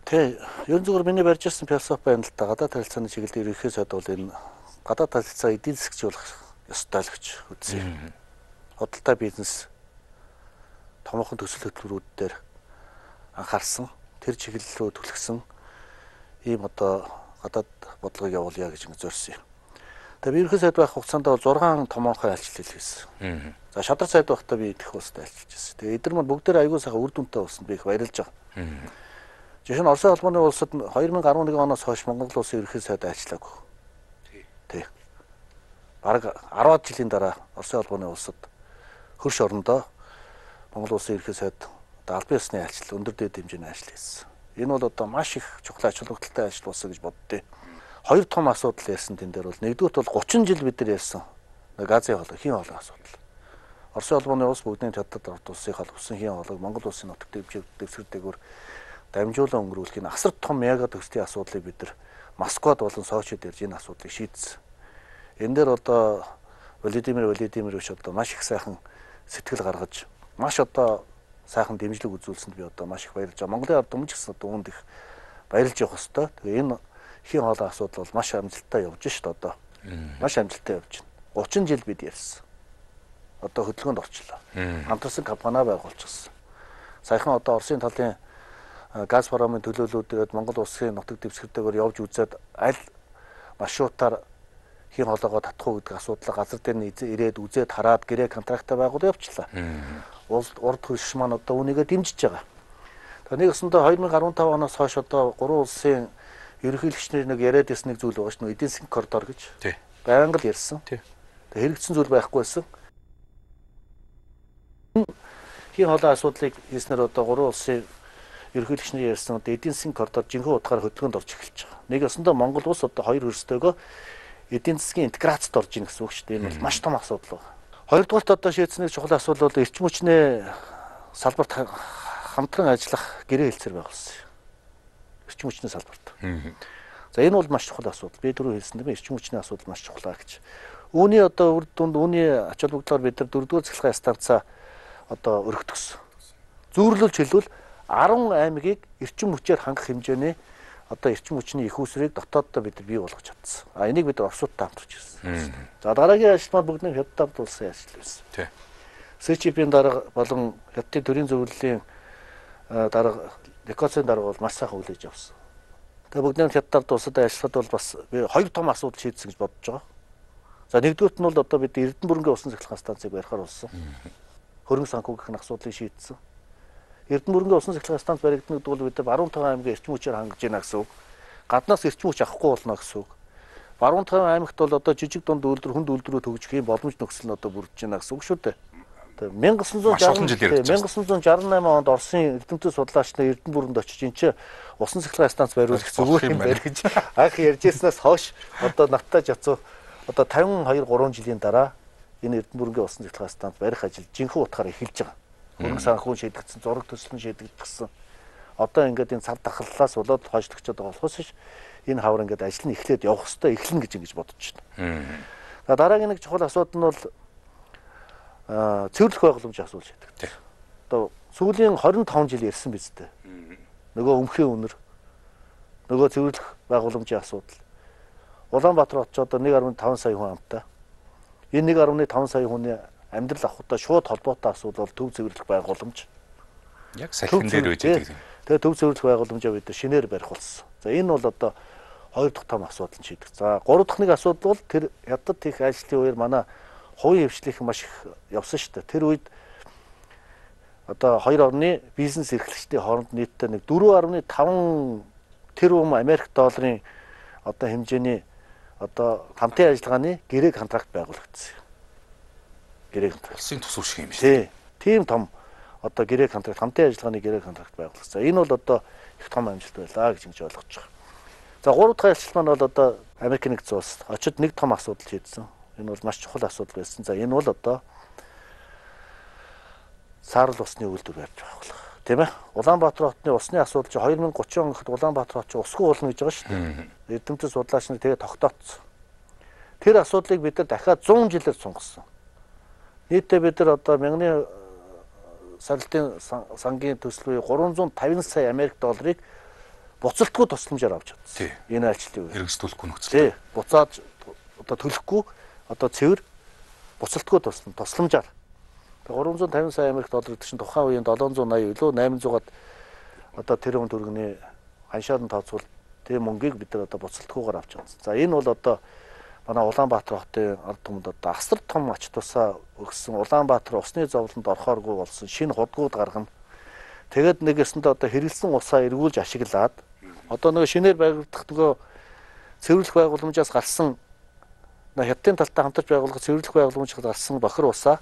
Тэ, ерөн зүгээр миний барьж ирсэн философи байна л да. Гадаад харилцааны чиглэлээр ирэхээс бол энэ гадаад харилцаа эдийн засгч болох ёстой л гэж үзье. Худалдаа бизнес томоохон төсөл хөтөлбөрүүд дээр анхаарсан, тэр чиглэл рүү түлхсэн ийм одоо гадаад бодлогыг явуулъя гэж зорьсон юм. Тэгээ би ерхий сайд байх хугацаанд бол 6 томоохон айлчлал хийсэн. За шадар сайд байхдаа би их улстай айлчилж байсан. Тэгээ эдгээр маань бүгдээр аягүй сайхан үр дүнтэй болсон би их баярлж байгаа. Жишээ нь Оросын холбооны улсад 2011 оноос хойш Монгол улсын ерхий сайд айлчлаагүй. Тий. Бараг 10 жилийн дараа Оросын холбооны улсад хөрш орондоо Монгол улсын ерхий сайд албан ёсны айлчлал өндөр дэд хэмжээний ажил хийсэн. Энэ бол одоо маш их чухал ач холбогдолтой ажил болсон гэж боддөө. Хоёр том асуудал ярьсан тэн дээр бол нэгдүгürt бол 30 жил бид нар ярьсан газын хоолой, хийн хоолой асуудал. Оросын холбооны улс бүгдийн чаддад орд улсын холбосон хийн хоолойг Монгол улсын нутаг дэвсгэртэйгээр дамжуулан өнгөрүүлэх энэ асар том мега төгсдийн асуудлыг бид нар Москвад болон Сочид ирж энэ асуудлыг шийдсэн. Энэ дээр одоо Владимир Владимирович одоо маш их сайхан сэтгэл гаргаж, маш одоо сайхан дэмжлэг үзүүлсэнд би одоо маш их баярлж байгаа. Монголын ард түмэн ч гэсэн одоо үүнд их баярлж явах хэвээр. Тэгээ энэ хийн хоолой асуудал бол маш амжилттай явж шүү дээ одоо. Маш амжилттай явж байна. 30 жил бид ярьсан. Одоо хөдөлгөөнд орчлоо. Хамтарсан компани байгуулчихсан. Саяхан одоо Оросын талын газ паромын төлөөллүүдгээд Монгол улсын нутаг дэвсгэртэйгээр явж үзээд аль маршрутаар хийн хоолойгоо татах уу гэдэг асуудлаа газар дээр нь ирээд үзээд хараад гэрээ контрактаа байгуул явуулчлаа. Урд хөрш маань одоо үүнийгээ дэмжиж байгаа. Тэгээ нэгсэндээ 2015 оноос хойш одоо 3 улсын ерөнхийлөгчнэр нэг яриад ирсэн нэг зүйл байгаа шүү дээ. Эдийн засгийн коридор гэж. Тий. Байнга л ярьсан. Тий. Тэгээ хэрэгцсэн зүйл байхгүй байсан. Хийн хоолой асуудлыг хийснээр одоо 3 улсын ерөнхийлөгчнэр ярьсан одоо эдийн засгийн коридор жинхэнэ утгаар хөдөлгөөнд орж эхэлж байгаа. Нэг өсөндөө Монгол улс одоо хоёр хөрстөөгөө эдийн засгийн интеграцид орж ийн гэсэн үг шүү дээ. Энэ бол маш том асуудал байна. Хоёрдугаарт одоо шийдсэн нэг чухал асуудал бол эрчим хүчний салбарт хамтран ажиллах гэрээ хэлцээр байгуулсан. Эрчим хүчний салбарт. За энэ бол маш чухал асуудал. Би түрүү хэлсэн дээ эрчим хүчний асуудал маш чухал гэж. Үүний одоо үр дүнд үүний ач холбогдлоор бид нар 4-р цахилгаан станцаа одоо өргөдгсөн. Зүйрлүүлж хэлбэл 10 аймгийг эрчим хүчээр хангах хэмжээний одоо эрчим хүчний их усрыг дотооддоо бид бий болгож чадсан. А энийг бид Оросуудтай хамтарч ирсэн. За дараагийн ажилтнууд бүгд хятадд улсын ажил байсан. Тий. СЧП-ийн дарга болон хятадын төрийн зөвлөлийн дарга Никоцын дарга бол маш сайхан хүлээж авсан. Тэгээ бүгд хятадд улсад ажиллахад бол бас би хоёр том асуудал шийдсэн гэж бодож байгаа. За нэгдүгürt нь бол одоо бид Эрдэнэ бүрэнгийн усан цахилгаан станцыг барихаар болсон. Хөрөнгө санхүүгийнх нь асуудлыг шийдсэн. Эрдэнэ бүрэнгийн усан цахилгаан станц баригдана гэдэг бол бид 15 аймгийн эрчим хүчээр хангаж байна гэсэн үг. Гаднаас эрчим хүч авахгүй болно гэсэн үг. 15 аймагт бол одоо жижиг дунд үйлдвэр хүнд үйлдвэрөө төгжих юм боломж нөхцөл нь одоо бүрдэж байна гэсэн үг шүү дээ. 1968 онд Оросын эрдэмтэд судлаач нар Эрдэнэ бүрэнд очиж энэ чинь усан цахилгаан станц бариулах зүгээр юм байна гэж анх ярьжсэнээс хойш одоо надтай жацуу одоо 52-3 жилийн дараа энэ Эрдэнэ бүрэнгийн усан цахилгаан станц барих ажил жинхэнэ утгаараа эхэлж байгаа. Хөрөнгө санхүү шийдэгдсэн, зураг төсөл нь шийдэгдсэн. Одоо ингээд энэ цар тахаллаас болоод хойшлогчод байгаа болохоос ш энэ хавар ингээд ажил нь эхлээд явах хэвээр эхлэнэ гэж ингэж бодож байна. За дараагийн нэг чухал асуудал нь бол цэвэрлэх байгууламжийн асуудал шийдэгдэх. Одоо сүүлийн 25 жил ярьсан биз дээ. Нөгөө өмхийн үнэр, нөгөө цэвэрлэх байгууламжийн асуудал. Улаанбаатар хотч одоо 1.5 сая хүн амтай. Энэ 1.5 сая хүний амьдрал авахтай шууд холбоотой асуудал бол төв цэвэрлэх байгууламж. Яг салхин дээр байж байгаа. Тэгээ төв цэвэрлэх байгууламжаа бид шинээр барих болсон. За энэ бол одоо хоёр дахь том асуудал нь шийдэх. За гурав дахь нэг асуудал бол тэр хятад их ажлын үеэр манай хувийн хвшлийнх маш их явсан шүү дээ. Тэр үед одоо хоёр орны бизнес эрхлэгчдийн хооронд нийтдээ нэг 4.5 тэрбум Америк долларын одоо хэмжээний одоо хамтын ажиллагааны гэрээ контракт байгуулагдсан. Гэрээ контракт. Улсын тус шиг юм шүү. Тийм том одоо гэрээ контракт хамтын ажиллагааны гэрээ контракт байгуулагдсан. Энэ бол одоо их том амжилт байлаа гэж ингэж ойлгож байгаа. За гурав дахь ажил маань бол одоо Америк нэгдсэн улс очид нэг том асуудал шийдсэн. Энэ бол маш чухал асуудал байсан. За энэ бол одоо саарл усны үйлдвэр барьж байгуулах. Тийм ээ. Улаанбаатар хотны усны асуудал чинь 2030 он гэхэд Улаанбаатар хот чинь усгүй болно гэж байгаа шүү дээ. Эрдэмтэд судлаач нар тэгээ тогтооцсон. Тэр асуудлыг бид нар дахиад 100 жилээр сунгасан. Нийтдээ бид нар одоо мянганы саралтын сангийн төсөл буюу 350 сая Америк долларыг буцалтгүй тусламжаар авч чадсан. Энэ ажилтны үе. Хэрэгжүүлэхгүй нөхцөл. Буцаад одоо төлөхгүй одоо цэвэр буцалтгүй тусламжаар 350 сая Америк доллар гэдэг чинь тухайн үеийн 780 илүү 800-аад одоо тэрбум төгрөгийн ханшаад нь тооцвол тэр мөнгийг бид нар одоо буцалтгүйгээр авч чадсан. За энэ бол одоо манай Улаанбаатар хотын ард түмэнд одоо асар том ач тусаа өгсөн Улаанбаатар усны зовлонд орохооргүй болсон шинэ худгууд гаргана. Тэгээд нэгэсэндээ одоо хэрэгэлсэн усаа эргүүлж ашиглаад одоо нөгөө шинээр байгуулагдах нөгөө цэвэрлэх байгууламжаас гарсан хятадын талтай хамтарч байгуулах цэвэрлэх байгууламжаас гарсан бохир усаа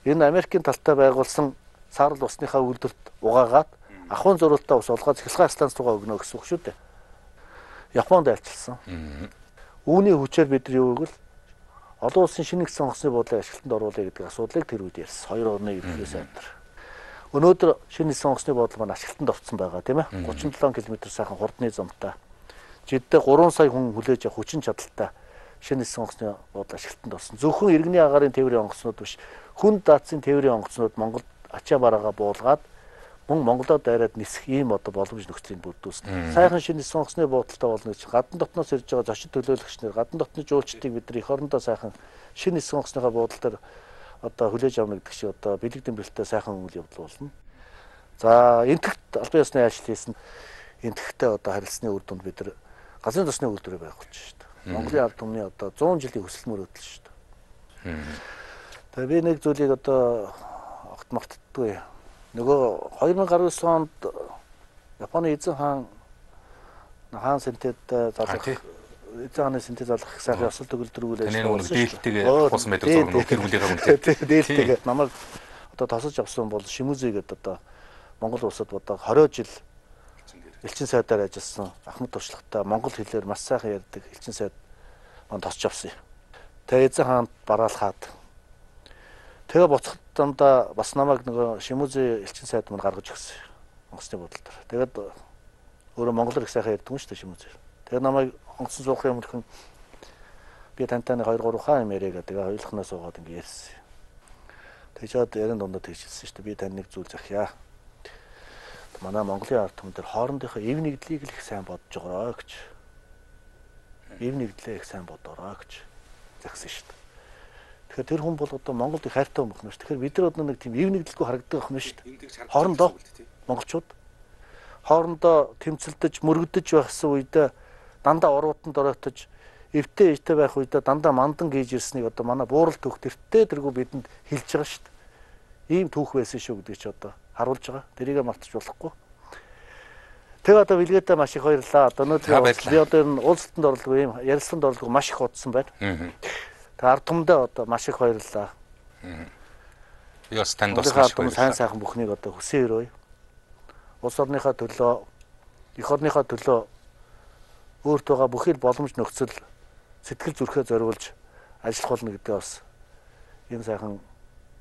энэ Америкийн талтай байгуулсан саарл усныхаа үйлдвэрт угаагаад ахуйн зориулалтаа ус олгоод цахилгаан станц руугаа өгнө гэсэн үг шүү дээ. Японд айлчилсан. Үүний хүчээр бид нар юу гэвэл олон улсын шинэ нэгдсэн онгоцны буудлыг ашиглалтанд оруулъя гэдэг асуудлыг тэр үед ярьсан. Хоёр орны ерөнхий сайдар. Өнөөдөр шинэ нэгдсэн онгоцны буудлыг маань ашиглалтанд орсон байгаа тийм ээ. 37 км сайхан хурдны замтай. Жиддээ 3 сая хүн хүлээж авах хүчин чадалтай шинэ нэгдсэн онгоцны буудлыг ашиглалтанд орсон. Зөвхөн иргэний агаарын тээврийн онгоцнууд биш. Хүн даацын тээврийн онгоцнууд Монголд ачаа бараагаа буулгаад мөн Монголоо дайраад нисэх ийм одоо боломж нөхцөлийг бүрдүүлсэн. Сайхан шинэ нэгдсэн онгоцны буудалтай болно гэж гадна дотноос ирж байгаа зочид төлөөлөгч нар гадна дотны жуулчдыг бид нар эх орондоо сайхан шинэ нэгдсэн онгоцныхаа буудалтаар одоо хүлээж авна гэдэг шиг одоо бэлэг дэмбэлтэй сайхан үйл явдал болно. За энтэгт албан ёсны ажил хийсэн энтэгтэй одоо харилцсны үр дүнд бид нар газрын тосны үйлдвэрээ байгуулж шүү дээ. Монголын ард түмний одоо 100 жилийн хүсэл мөрөөдөл шүү дээ. Тэгээ би нэг зүйлийг одоо огт мартдаггүй. Нөгөө 2019 онд Японы эзэн хаан синтед залгах эзэн хааны синтед залгах сайхан ёсол төгөлдрүүл ажилласан. Дээлтэйгээ болсон байдаг зөв нөхөр хүлээгээ үнтэй. Дээлтэйгээ намайг одоо тосож авсан бол Шимүзэ гэдэг одоо Монгол улсад одоо 20 жил элчин сайдаар ажилласан ахмад туршлагатай монгол хэлээр маш сайхан ярьдаг элчин сайд маань тосч авсан юм. Тэгээ эзэн хаанд бараалхаад тэгээ буцахад дандаа бас намайг нөгөө Шимүзэ элчин сайд маань гаргаж өгсөн. Онгоцны бодолтой. Тэгээд өөрөө монголоор их сайхан ярьдаг юм шүү дээ Шимүзэ. Тэгээ намайг онгоцон суух юм хэрхэн би тантай 2-3 хаан юм яриа гэдэг. Тэгээ хоёулахнаа суугаад ингэ ярьсан. Тэгжээд ярин дундаа тэгжсэн шүү дээ. Би тань нэг зүйл захиа. Манай Монголын ард түмэн дээр хоорондынхоо эв нэгдлийг л их сайн бодож байгаарай гэж. Эв нэгдлээ их сайн бодоорой гэж загсан шүү дээ. Тэгэхээр тэр хүн бол одоо Монголд их хайртай хүн байна шүү. Тэгэхээр бид нар одоо нэг тийм эв нэгдэлгүй харагдаг юм шүү дээ. Хоорондоо монголчууд хоорондоо тэмцэлдэж, мөрөгдөж байхсан үедээ дандаа уруутанд оройтож, эвтэй ээжтэй байх үедээ дандаа мандан гээж ирснийг одоо манай буурал түүх тэртээ тэргүй бидэнд хэлж байгаа шүү дээ. Ийм түүх байсан шүү гэдэг чи одоо харуулж байгаа. Тэрийгэ мартаж болохгүй. Тэгээ одоо билгээдээ маш их баярлалаа. Одоо өнөөдөр би одоо энэ уулзалтанд орлого ийм ярилцлаганд орлого маш их удсан байна. Тэгээ ард түмэндээ одоо маш их баярлалаа. Яс танд Монголынхаа бас албан сайн сайхан бүхнийг одоо хүсэн өрөөе. Улс орныхаа төлөө, эх орныхаа төлөө өөрт байгаа бүхий л боломж нөхцөл сэтгэл зүрхээ зориулж ажиллах болно гэдэг бас энэ сайхан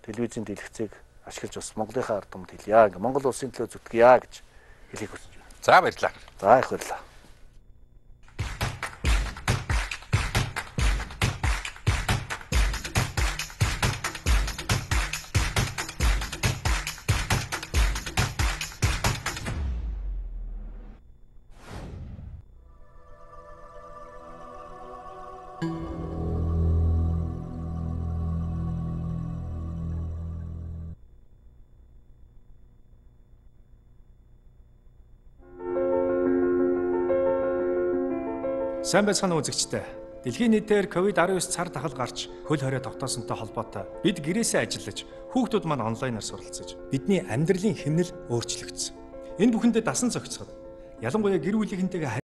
телевизийн дэлгэцийг ашиглаж бас Монголынхаа ард түмэд хэлье. Ингээ Монгол улсын төлөө зүтгэе гэж хэлийг хүсэж байна. За баярлалаа. За их баярлалаа. Сайн байцгаана уу үзэгчдээ. Дэлхийн нийтээр COVID-19 цар тахал гарч хөл хорой тогтоосонтой холбоотой бид гэрээсээ ажиллаж хүүхдүүд маань онлайнаар суралцаж бидний амьдралын хэмнэл өөрчлөгдсөн. Энэ бүхэндээ дасан зохицоход ялангуяа гэр бүлийнхэнтэйгээ